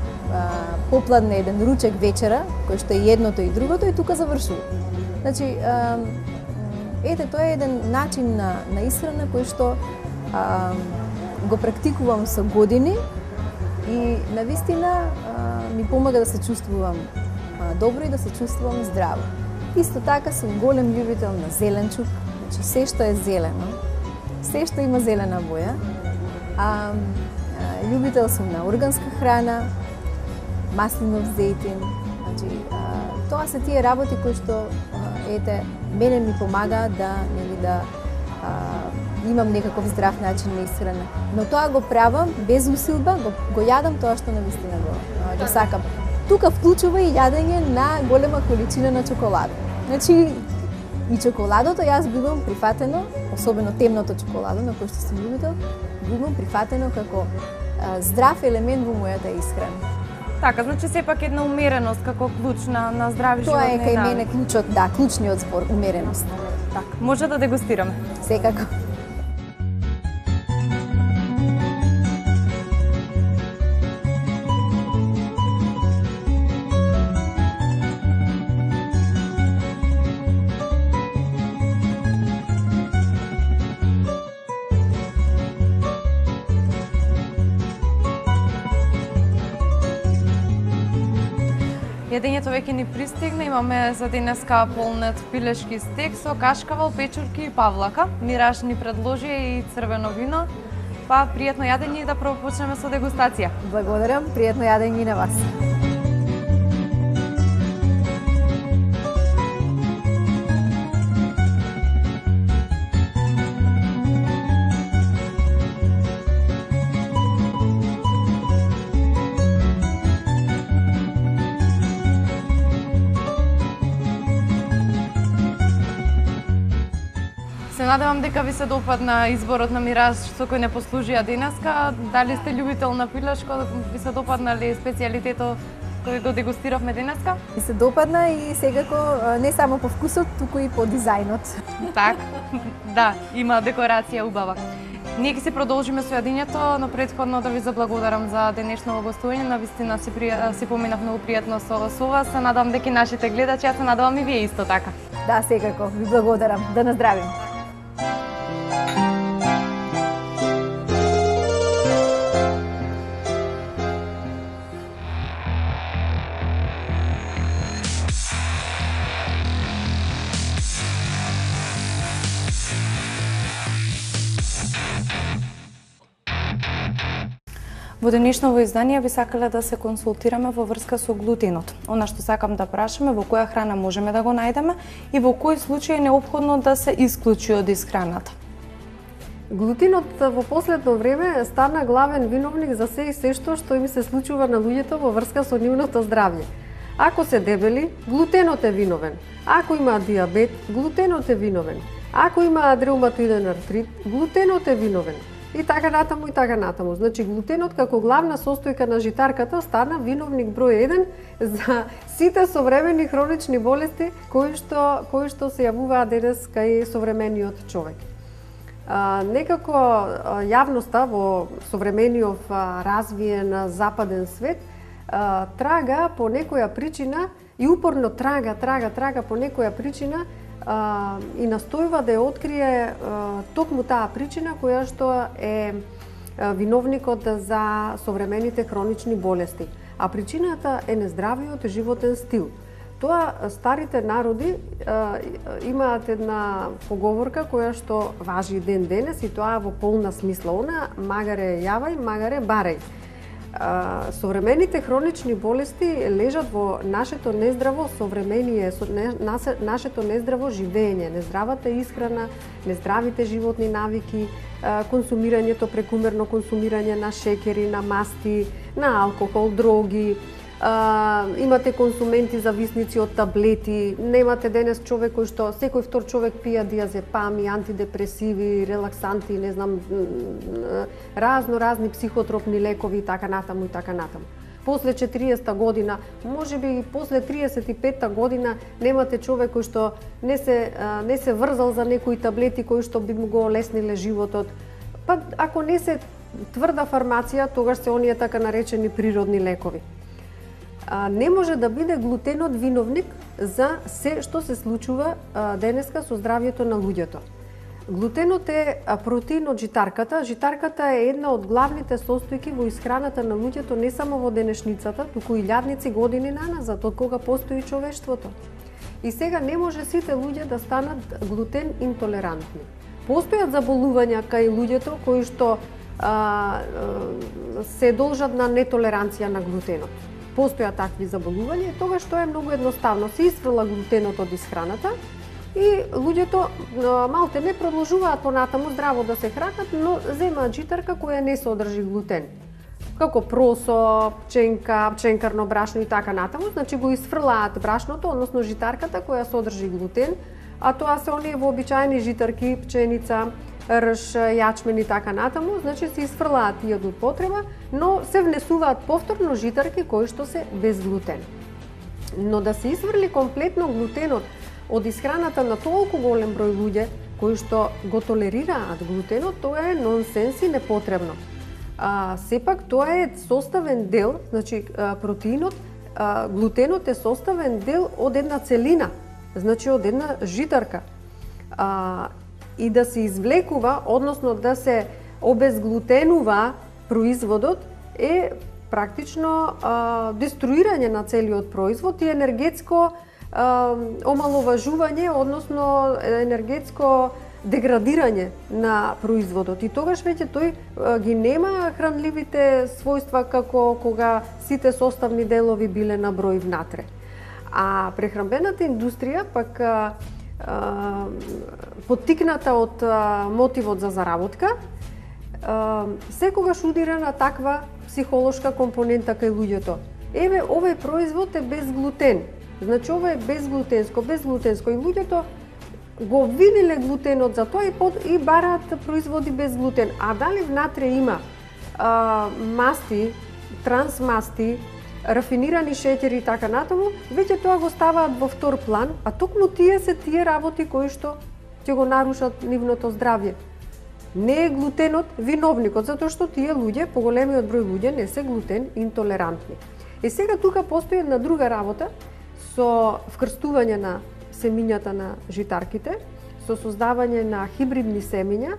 попладне еден ручек вечера, кој што е едното и другото и тука завршува. Значи, ете, тоа е еден начин на исхрана кој што го практикувам со години и навистина ми помага да се чувствувам добро и да се чувствувам здраво. Исто така сум голем љубител на зеленчук, значи се што е зелено, се што има зелена боја. Љубител сум на органска храна, маслинов зејтин, значи тоа се тие работи кои што мене ми помага да имам некаков здрав начин на исхрана. Но тоа го правам без усилба, го јадам тоа што навистина го сакам. Тука вклучува и јадење на голема количина на чоколада. Значи, и чоколадото јас го имам прифатено, особено темното чоколадо, на кој што сум љубител, го имам прифатено како здрав елемент во мојата исхрана. Така, значи сепак една умереност како клуч на здрави животни. Тоа е кај мене клучот, да, клучниот збор, умереност. Така, може да дегустираме. Секако. Јадењето веќе ни пристигна, имаме за денеска полнет пилешки стек со кашкавал, печурки и павлака. Мираж ни предложи и црвено вино. Па пријатно јадење и да почнеме со дегустација. Благодарам, пријатно јадење и на вас. Се надевам дека ви се допадна изборот на Мираж со кој не послужија денеска. Дали сте љубител на пилешко, ви се допадна ли специјалитетот кој го дегустиравме денеска? Ми се допадна и секако не само по вкусот, туку и по дизајнот. Так, да, има декорација убава. Ние ќе се продолжиме со јадењето, но претходно да ви заблагодарам за денешно гостување. Навистина си поминав многу пријатно со вас. Се надевам дека и нашите гледачи, се надевам и вие исто така. Да, секако, ви благодарам. Да наздравим. Во денешново издание би сакале да се консултираме во врска со глутенот. Она што сакам да прашаме, во која храна можеме да го најдеме и во кој случај е неопходно да се исклучи од исхраната. Глутенот во последно време стана главен виновник за се и се што им се случува на луѓето во врска со нивното здравје. Ако се дебели, глутенот е виновен. Ако имаат диабет, глутенот е виновен. Ако имаат реуматоиден артрит, глутенот е виновен. И така натаму, и така натаму. Значи, глутенот како главна состојка на житарката стана виновник број 1 за сите современи хронични болести кои што се јавуваат денес кај современиот човек. Некако јавноста во современиот развиен западен свет трага по некоја причина и упорно трага по некоја причина и настојува да ја открие токму таа причина која што е виновникот за современите хронични болести. А причината е нездравиот животен стил. Тоа старите народи имаат една поговорка која што важи ден денес и тоа во полна смисла. Она магаре јавај, магаре барај. Современите хронични болести лежат во нашето нездраво современие, нашето нездраво живење, нездравата исхрана, нездравите животни навики, консумирањето, прекумерно консумирање на шеќери, на масти, на алкохол, дроги. Имате консументи зависници од таблети, немате денес човек кој што секој втор човек пија диазепами, антидепресиви, релаксанти, не знам, разни психотропни лекови и така натаму и така натаму. После 40-та година, можеби и после 35-та година немате човек кој што не се врзал за некои таблети кои што би му го олесниле животот. Па ако не се тврда фармација, тогаш се оние така наречени природни лекови. Не може да биде глутенот виновник за се што се случува денеска со здравјето на луѓето. Глутенот е протеин од житарката. Житарката е една од главните состојки во исхраната на луѓето не само во денешницата, туку и илјадници години наназад, од кога постои човештвото. И сега не може сите луѓе да станат глутен интолерантни. Постојат заболувања кај луѓето кои што се должат на нетолеранција на глутенот. Постојат такви заболувања и тогаш тоа е многу едноставно. Се исфрла глутенот од исхраната и луѓето малте не продолжуваат понатаму здраво да се хранат, но земаат житарка која не содржи глутен. Како просо, пченка, пченкарно брашно и така натаму, значи го исфрлаат брашното, односно житарката која содржи глутен, а тоа се оние вообичаени житарки, пченица, рж, јачмен и така натаму, значи се исфрлаат тие од употреба, но се внесуваат повторно житарки кои што се без глутен. Но да се исфрли комплетно глутенот од исхраната на толку голем број луѓе кои што го толерираат глутенот, тоа е нонсенс и непотребно. Сепак тоа е составен дел, значи протеинот, глутенот е составен дел од една целина, значи од една житарка. И да се извлекува, односно да се обезглутенува производот е практично деструирање на целиот производ и енергетско омаловажување, односно енергетско деградирање на производот. И тогаш веќе тој ги нема хранливите својства како кога сите составни делови биле на број внатре. А прехранбената индустрија пак поттикната од мотивот за заработка, секогаш удира на таква психолошка компонента кај луѓето. Еве, овој производ е без глутен. Значи, ова е безглутенско. И луѓето го виделе глутенот за тоа и бараат производи без глутен. А дали внатре има масти, трансмасти, рафинирани шеќери и така натаму, веќе тоа го ставаат во втор план, а токму тие се тие работи кои што ќе го нарушат нивното здравје. Не е глутенот виновникот, затоа што тие луѓе, поголемиот број луѓе, не се глутен интолерантни. И сега тука постои една друга работа со вкрстување на семињата на житарките, со создавање на хибридни семиња,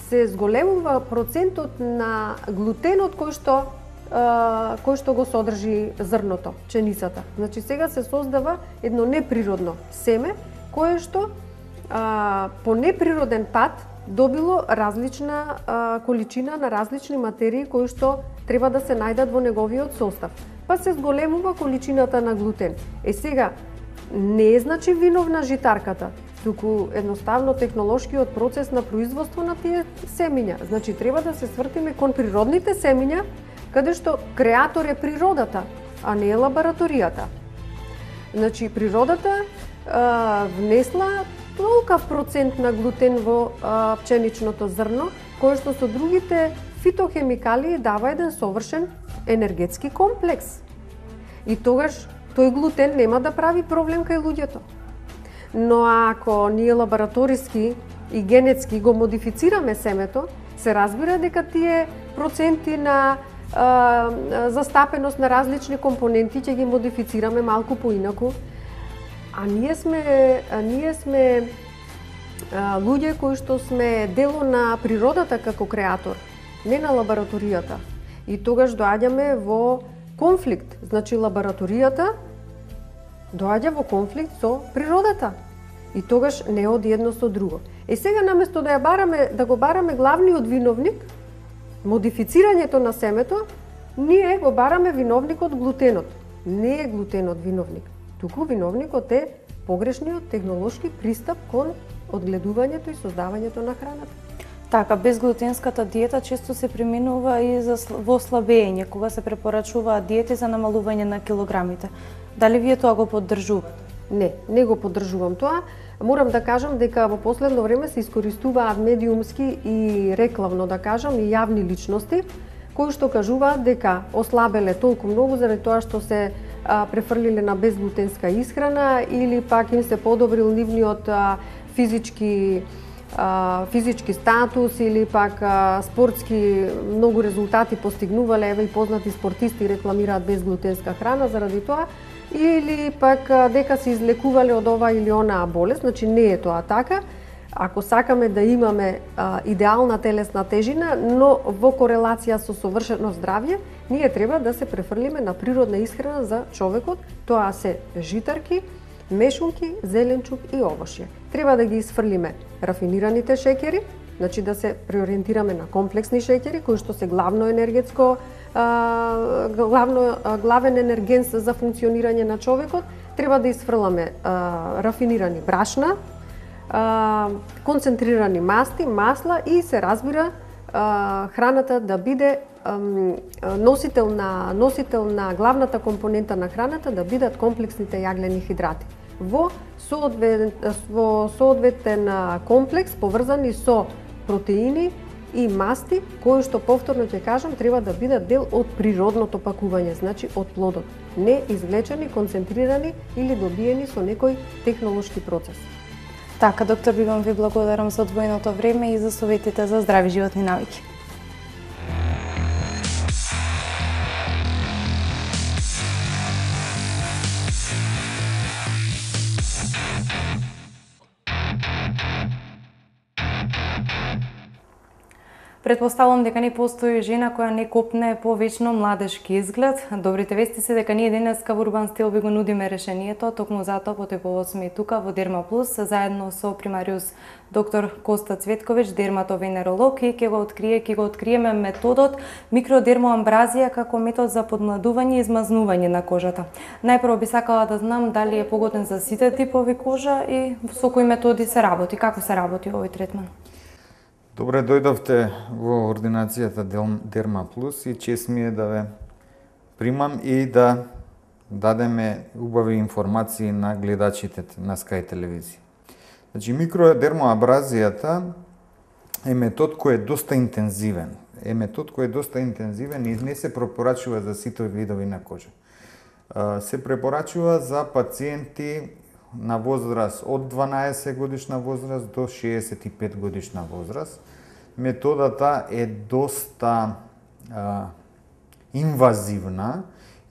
се зголемува процентот на глутенот кој што го содржи зрното, пченицата. Значи сега се создава едно неприродно семе кое што по неприроден пат добило различна количина на различни материи кои што треба да се најдат во неговиот состав. Па се зголемува количината на глутен. Сега не е значи виновна житарката, туку едноставно технолошкиот процес на производство на тие семиња. Значи треба да се свртиме кон природните семиња, каде што креатор е природата, а не е лабораторијата. Значи природата внесла толкав процент на глутен во пченичното зрно, кое што со другите фитохемикалии дава еден совршен енергетски комплекс. И тогаш тој глутен нема да прави проблем кај луѓето. Но ако ние лабораториски и генетски го модифицираме семето, се разбира дека тие проценти на застапеност на различни компоненти ќе ги модифицираме малку поинаку. А ние сме луѓе кои што сме дело на природата како креатор, не на лабораторијата. И тогаш доаѓаме во конфликт. Значи лабораторијата доаѓа во конфликт со природата. И тогаш не оди едно со друго. Сега наместо да го бараме главниот виновник, модифицирањето на семето, ние го бараме виновникот глутенот. Не е глутенот виновник, туку виновникот е погрешниот технолошки пристап кон одгледувањето и создавањето на храната. Така, безглутенската диета често се преминува и во слабење, кога се препорачуваат диети за намалување на килограмите. Дали вие тоа го поддржувате? Не го поддржувам тоа. Морам да кажам дека во последно време се искористуваат медиумски и рекламно, да кажам, и јавни личности, кои што кажуваат дека ослабеле толку многу заради тоа што се префрлиле на безглутенска исхрана или пак им се подобрил нивниот физички статус или пак спортски многу резултати постигнувале, еве и познати спортисти рекламираат безглутенска храна заради тоа, или пак дека се излекувале од ова или онаа болест, значи не е тоа така. ако сакаме да имаме идеална телесна тежина, но во корелација со совршено здравје, ние треба да се префрлиме на природна исхрана за човекот, тоа се житарки, мешунки, зеленчук и овошје. Треба да ги исфрлиме рафинираните шеќери, значи да се преориентираме на комплексни шеќери, кои што се главно енергетско, главен енергенс за функционирање на човекот. Треба да исфрламе рафинирани брашна, концентрирани масти, масла и се разбира храната да биде носител на главната компонента на храната да бидат комплексните јаглени хидрати. Во соодветен комплекс поврзани со протеини и масти, кои што повторно ќе кажам треба да бидат дел од природното пакување, значи од плодот, не извлечени, концентрирани или добиени со некој технолошки процес. Така, доктор Бибан, ви благодарам за одвоеното време и за советите за здрави животни навики. Предпоставувам дека не постои жена која не копне по вечно младешки изглед. Добрите вести се дека ние денеска во Урбан стил ви го нудиме решението, токму затоа по тој повод сме и тука во Дерма Плюс заедно со примариус доктор Коста Цветковиќ, дерматовенеролог, и ќе го откриеме методот микродермоамбразија како метод за подмладување и измазнување на кожата. Најпрво би сакала да знам дали е погоден за сите типови кожа и со кои методи се работи, како се работи овој третман. Добре дојдовте во ординацијата Дерма Плюс и чест ми е да ве примам и да дадеме убави информации на гледачите на Sky телевизија. Значи, микродермоабразијата е метод кој е доста интензивен. И не се препорачува за сите видови на кожа. Се препорачува за пациенти на возраст од 12 годишна возраст до 65 годишна возраст. Методата е доста инвазивна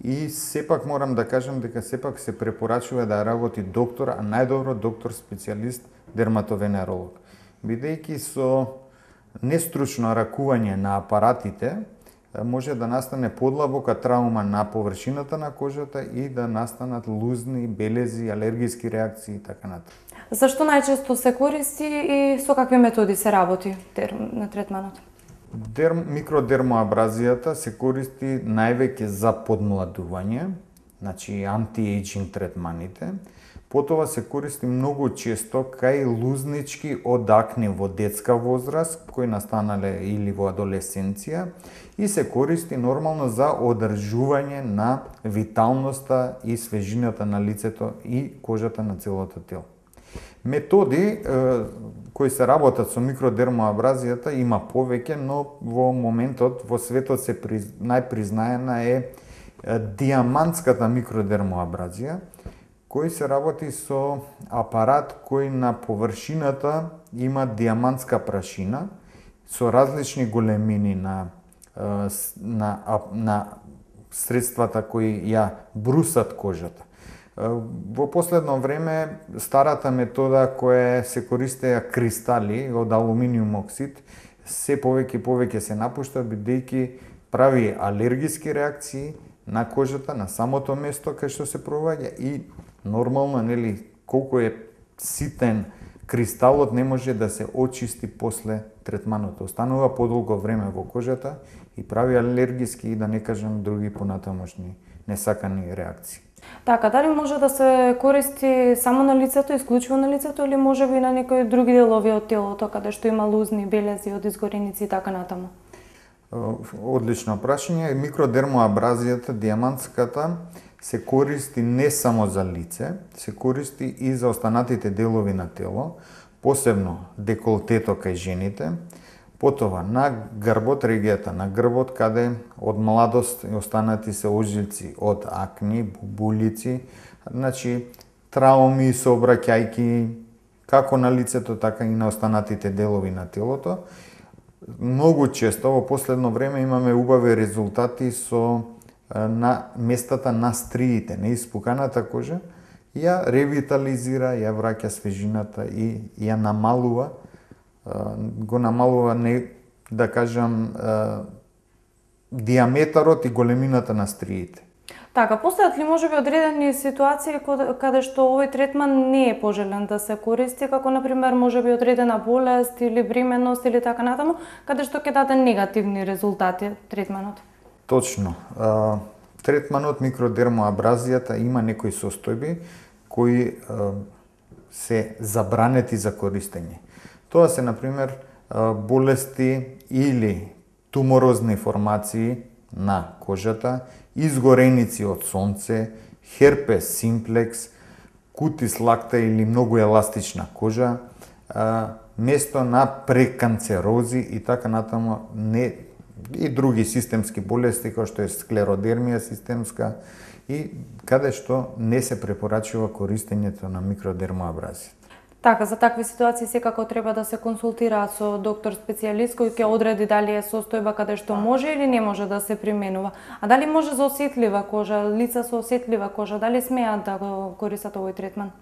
и сепак морам да кажам дека сепак се препорачува да работи доктор, а најдобро доктор специјалист дерматовенеролог. Бидејќи со нестручно ракување на апаратите може да настане подлабока травма на површината на кожата и да настанат лузни, белези, алергиски реакции и така натаму. Зашто најчесто се користи и со какви методи се работи на третманот? Микродермоабразијата се користи највеќе за подмладување, значи анти-ејджинг третманите. Потоа се користи многу често кај лузнички од акне во детска возраст, кои настанале или во адолесценција, и се користи нормално за одржување на виталноста и свежината на лицето и кожата на целото тело. Методи кои се работат со микродермоабразијата има повеќе, но во моментот во светот се најпризнаена е диамантската микродермоабразија, кој се работи со апарат кој на површината има диамантска прашина со различни големини на средствата кои ја брусат кожата. Во последно време старата метода која се користеа кристали од алуминиум оксид се повеќе се напушта, бидејќи прави алергиски реакции на кожата, на самото место кај што се проваѓа и нормално, нели, колку е ситен кристалот не може да се очисти после третманот. Останува подолго време во кожата и прави алергиски и да не кажам други понатамошни несакани реакции. Така, дали може да се користи само на лицето, исклучиво на лицето, или може би на некои други делови од телото, каде што има лузни, белези од изгореници и така натаму? Одлично прашање. Микродермоабразијата, диамантската, се користи не само за лице, се користи и за останатите делови на тело, посебно деколтето кај жените, потоа на грбот, регијата на грбот, каде од младост останати се ожилци од акни, бубулици, значи трауми, сообраќајки, како на лицето, така и на останатите делови на телото. Многу често во последно време имаме убави резултати со на местата на стриите, неиспуканата кожа ја ревитализира, ја враќа свежината и ја намалува, го намалува, не да кажам, диаметарот и големината на стриите. Така, постојат ли можеби одредени ситуации каде што овој третман не е пожелен да се користи, како например можеби одредена болест или бременост или така натаму, каде што ќе даде негативни резултати третманот? Точно. Третманот микродермоабразијата има некои состојби кои се забранети за користење. Тоа се, например, болести или туморозни формации на кожата, изгореници од сонце, херпес симплекс, кутис лакта или многу еластична кожа, место на преканцерози и така натаму, и други системски болести, кои што е склеродермија системска, и каде што не се препорачува користењето на микродермоабразија. Така, за такви ситуации секако треба да се консултираат со доктор специјалист кој ќе одреди дали е состојба каде што може или не може да се применува. А дали може за осетлива кожа, лица со осетлива кожа, дали смеат да го користат овој третман?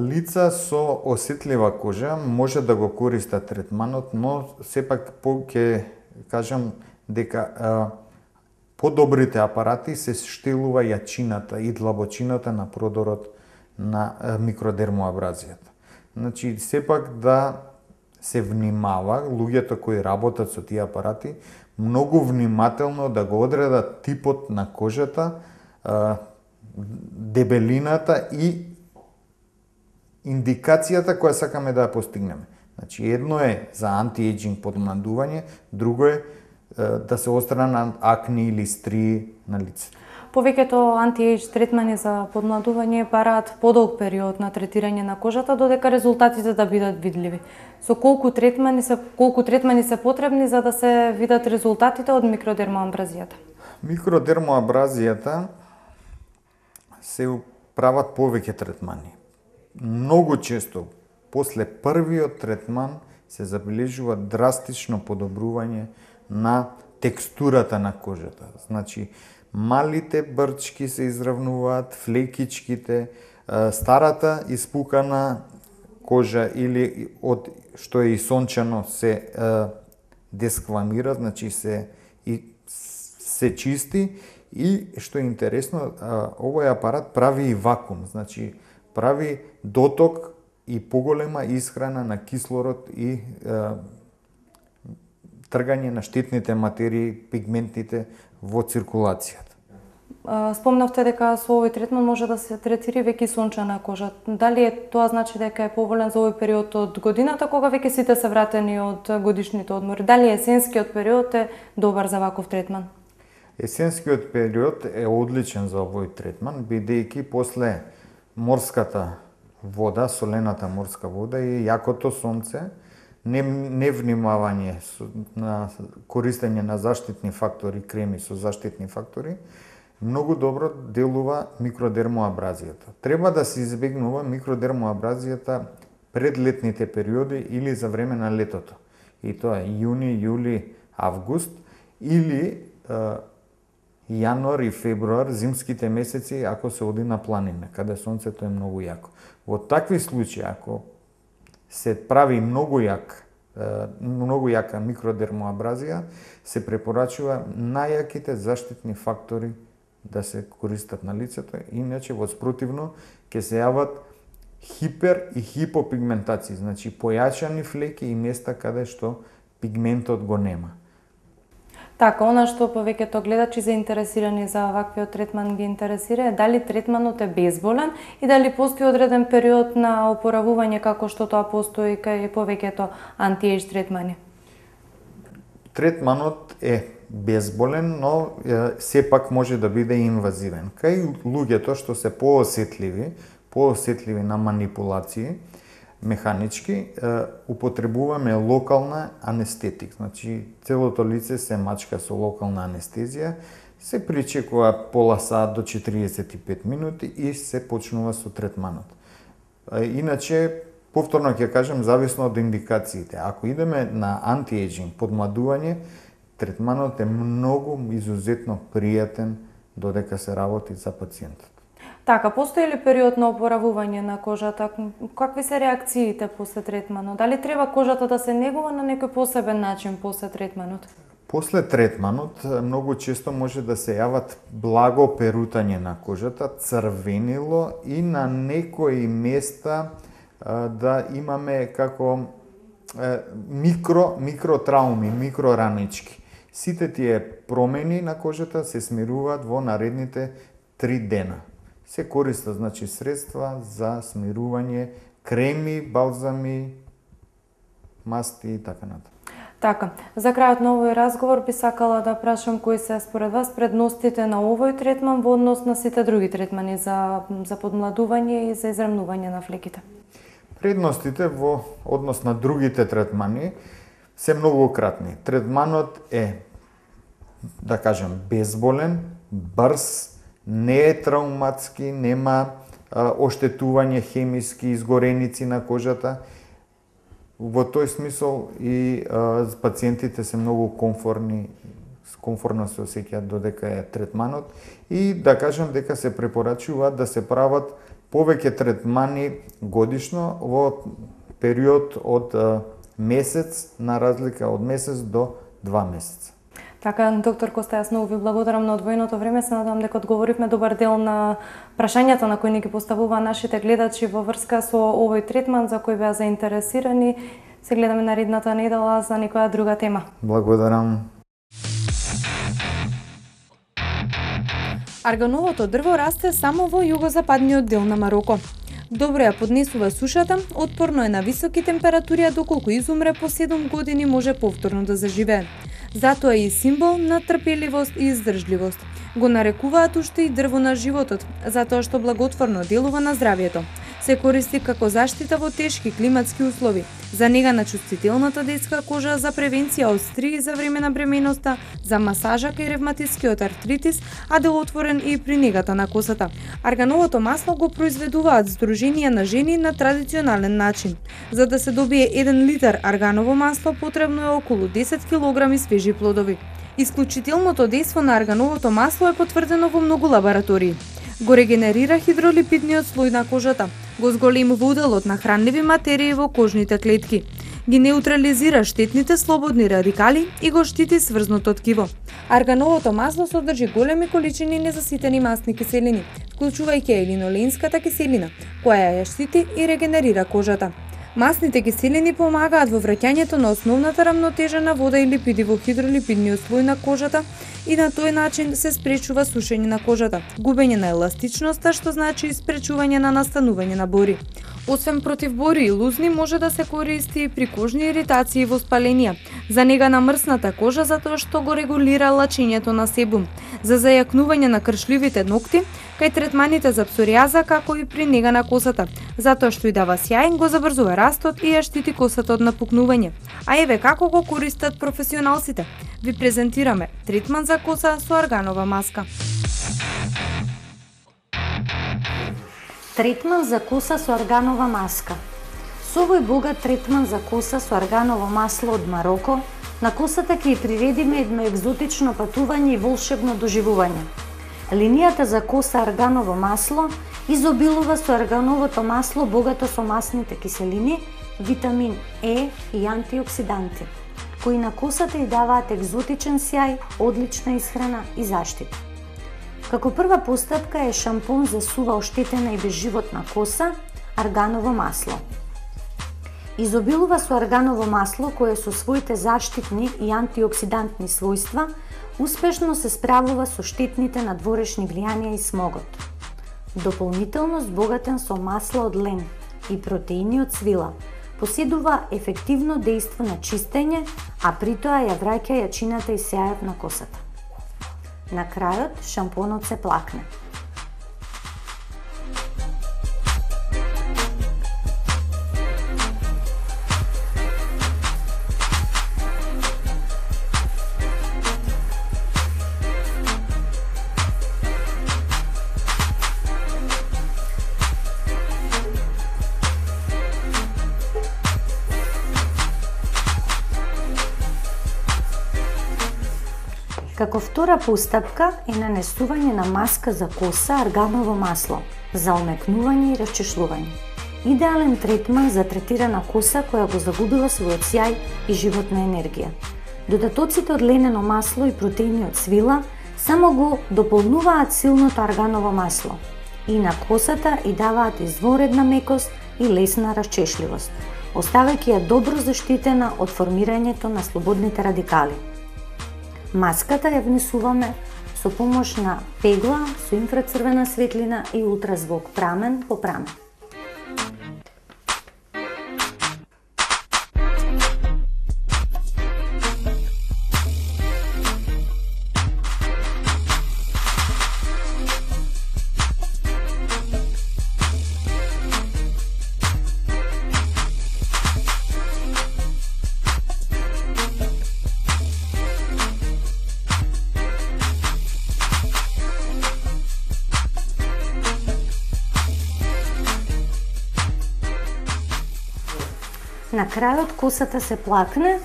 Лица со осетлива кожа може да го користат третманот, но сепак ќе кажам дека подобрите апарати се штилува јачината и длабочината на продорот на микродермоабразијата. Значи, сепак да се внимава, луѓето кои работат со тие апарати, многу внимателно да го одредат типот на кожата, дебелината и индикацијата која сакаме да ја постигнеме. Значи, едно е за антиејџинг подмладување, друго е да се отстранат акни или стрии на лице. Повеќето анти-ејдж третмани за подмладување бараат подолг период на третирање на кожата додека резултатите да бидат видливи. Со колку третмани се потребни за да се видат резултатите од микродермоабразијата? Микродермоабразијата се прават повеќе третмани. Многу често после првиот третман се забележува драстично подобрување на текстурата на кожата. Значи, малите брчки се изравнуваат, флекичките, старата испукана кожа или од што е и сончано се десквамира, значи се чисти и што е интересно, овој апарат прави и вакуум, значи прави доток и поголема исхрана на кислород и тргање на штетните материи, пигментите во циркулацијата. Спомнавте дека со овој третман може да се третира веќе сончена кожа. Дали тоа значи дека е поволен за овој период од годината, кога веќе сите се вратени од годишните одмори? Дали есенскиот период е добар за ваков третман? Есенскиот период е одличен за овој третман, бидејќи после морската вода, солената морска вода и јакото сонце, невнимавање на користење на заштитни фактори, креми со заштитни фактори, многу добро делува микродермоабразијата. Треба да се избегнува микродермоабразијата пред летните периоди или за време на летото. И тоа е јуни, јули, август или јануар и февруар, зимските месеци, ако се оди на планина, каде сонцето е многу јако. Во такви случаи, ако се прави многу јака микродермоабразија, се препорачува најаките заштитни фактори да се користат на лицето, иначе во спротивно ќе се јават хипер и хипопигментација, значи појачани флеки и места каде што пигментот го нема. Така, она што повеќето гледачи заинтересирани за ваквиот третман ги интересира е дали третманот е безболен и дали постои одреден период на опоравување како што тоа постои кај повеќето анти-ејдж третмани. Третманот е безболен, но сепак може да биде инвазивен. Кај луѓето што се поосетливи на манипулации, механички, употребуваме локална анестетик. Значи, целото лице се мачка со локална анестезија, се причекува пола сат до 45 минути и се почнува со третманот. Иначе, повторно ќе кажем, зависно од индикациите. Ако идеме на антиејџинг, подмладување, третманот е многу изузетно пријатен додека се работи за пациентот. Така, постои ли период на опоравување на кожата? Какви се реакциите после третманот? Дали треба кожата да се негува на некој посебен начин после третманот? После третманот многу често може да се јават благо перутање на кожата, црвенило и на некои места да имаме како микротрауми, микроранички. Сите тие промени на кожата се смируваат во наредните 3 дена. Се користат средства за смирување, креми, балзами, масти и така натаму. Така, за крајот на овој разговор би сакала да прашам кои се според вас предностите на овој третман во однос на сите други третмани за подмладување и за израмнување на флеките. Предностите во однос на другите третмани се многу кратни. Третманот е, да кажем, безболен, брз, не е трауматски, нема оштетување хемиски, изгореници на кожата. Во тој смисол и пациентите се многу комфортно се осеќаат додека е третманот и да кажем дека се препорачува да се прават повеќе третмани годишно во период од месец, на разлика од месец до 2 месеца. Така, доктор Коста, јас многу ви благодарам на одвоеното време. Се надам дека одговоривме добар дел на прашањата на кои ни ги поставуваа нашите гледачи во врска со овој третман за кој беа заинтересирани. Се гледаме наредната недела за некоја друга тема. Благодарам. Аргановото дрво расте само во југозападниот дел на Мароко. Добро ја поднесува сушата, отпорно е на високи температури, а доколку изумре по 7 години може повторно да заживее. Затоа е и символ на трпеливост и издржливост. Го нарекуваат уште и дрво на животот, затоа што благотворно делува на здравјето. Се користи како заштита во тешки климатски услови, за нега на чувствителната детска кожа, за превенција од стрии за време на бременоста, за масажа кај ревматискиот артритис, а делотворен и при негата на косата. Аргановото масло го произведуваат здруженија на жени на традиционален начин. За да се добие 1 литар арганово масло потребно е околу 10 кг свежи плодови. Исклучителното дејство на аргановото масло е потврдено во многу лаборатории. Го регенерира хидролипидниот слој на кожата, го зголемува уделот на хранливи материи во кожните клетки, ги неутрализира штетните слободни радикали и го штити сврзното ткиво. Аргановото масло содржи големи количини незаситени масни киселини, вклучувајќи и линоленската киселина, која ја штити и регенерира кожата. Масните киселини помагаат во враќањето на основната рамнотежа на вода и липиди во хидролипидниот слој на кожата и на тој начин се спречува сушење на кожата, губење на еластичноста, што значи спречување на настанување на бори. Освен против бори и лузни, може да се користи и при кожни иритации и воспаленија, за нега на мрсната кожа затоа што го регулира лачењето на себум, за зајакнување на кршливите ногти, кај третманите за псоријаза, како и при нега на косата, затоа што и дава сјај, го забрзува растот и ја штити косата од напукнување. А еве како го користат професионалците. Ви презентираме третман за коса со арганова маска. Третман за коса со арганова маска. Со овој богат третман за коса со арганово масло од Мароко, на косата ќе ја приредиме едно екзотично патување и волшебно доживување. Линијата за коса арганово масло изобилува со аргановото масло богато со масните киселини, витамин Е и антиоксиданти, кои на косата ја даваат екзотичен сјај, одлична исхрана и заштита. Како прва постапка е шампон за сува оштетена и безживотна коса, арганово масло. Изобилува со арганово масло кое со своите заштитни и антиоксидантни својства успешно се справува со штетните надворешни влијанија и смогот. Дополнително збогатен со масло од лем и протеини од свила, поседува ефективно дејство на чистење, а при тоа ја враќа јачината и сјајот на косата. На крајот, шампонот се плакне. Како втора постапка е нанесување на маска за коса арганово масло за омекнување и расчешлување. Идеален третман за третирана коса која го загубила својот сјај и животна енергија. Додатоците од ленено масло и протеини од свила само го дополнуваат силното арганово масло и на косата и даваат изворедна мекост и лесна расчешливост, оставајќи ја добро заштитена од формирањето на слободните радикали. Маската ја внесуваме со помош на пегла со инфрацрвена светлина и ултразвук прамен по прамен. На крајот косата се плакне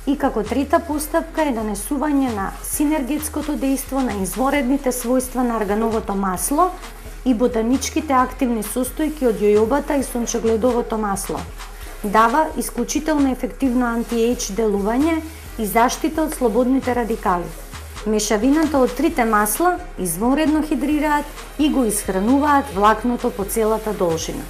и како трета постапка е нанесување на синергетското дејство на изворедните својства на аргановото масло и ботаничките активни состојки од јојобата и сончегледовото масло. Дава исклучително ефективно анти-ејдж делување и заштита од слободните радикали. Мешавината од трите масла изворедно хидрираат и го исхрануваат влакното по целата должина.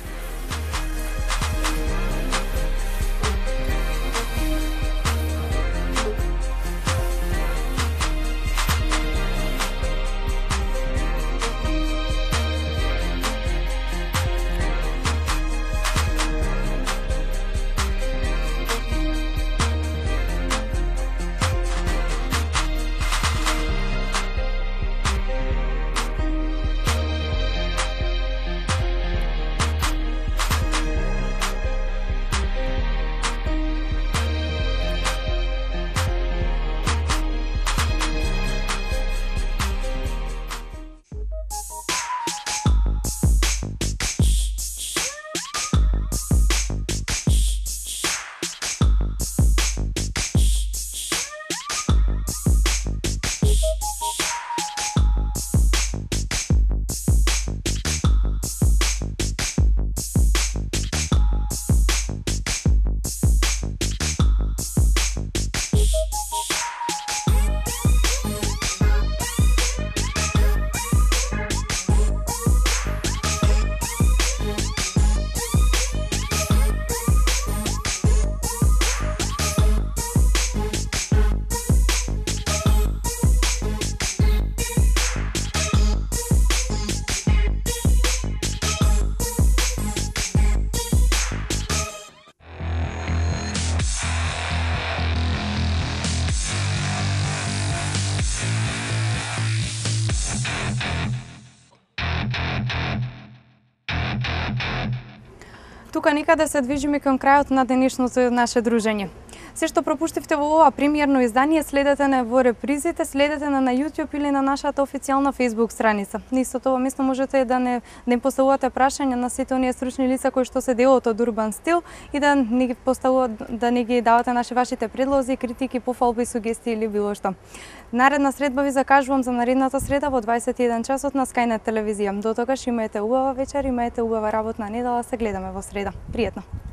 Тука некаде се движиме кон крајот на денешното наше дружење. Се што пропуштивте во ова премиерно издание, следете на во репризите, следете на YouTube или на нашата официјална Facebook страница. На истото ова место можете да не поставувате прашања на сите оние стручни лица кои што се делот од Урбан Стил и да не ги да не ги давате вашите предлози, критики, пофалби, сугестии или било што. Наредна средба ви закажувам за наредната среда во 21 часот на Skynet телевизија. До тогаш имајте убава вечер, имајте убава работна недела, се гледаме во среда. Пријатно!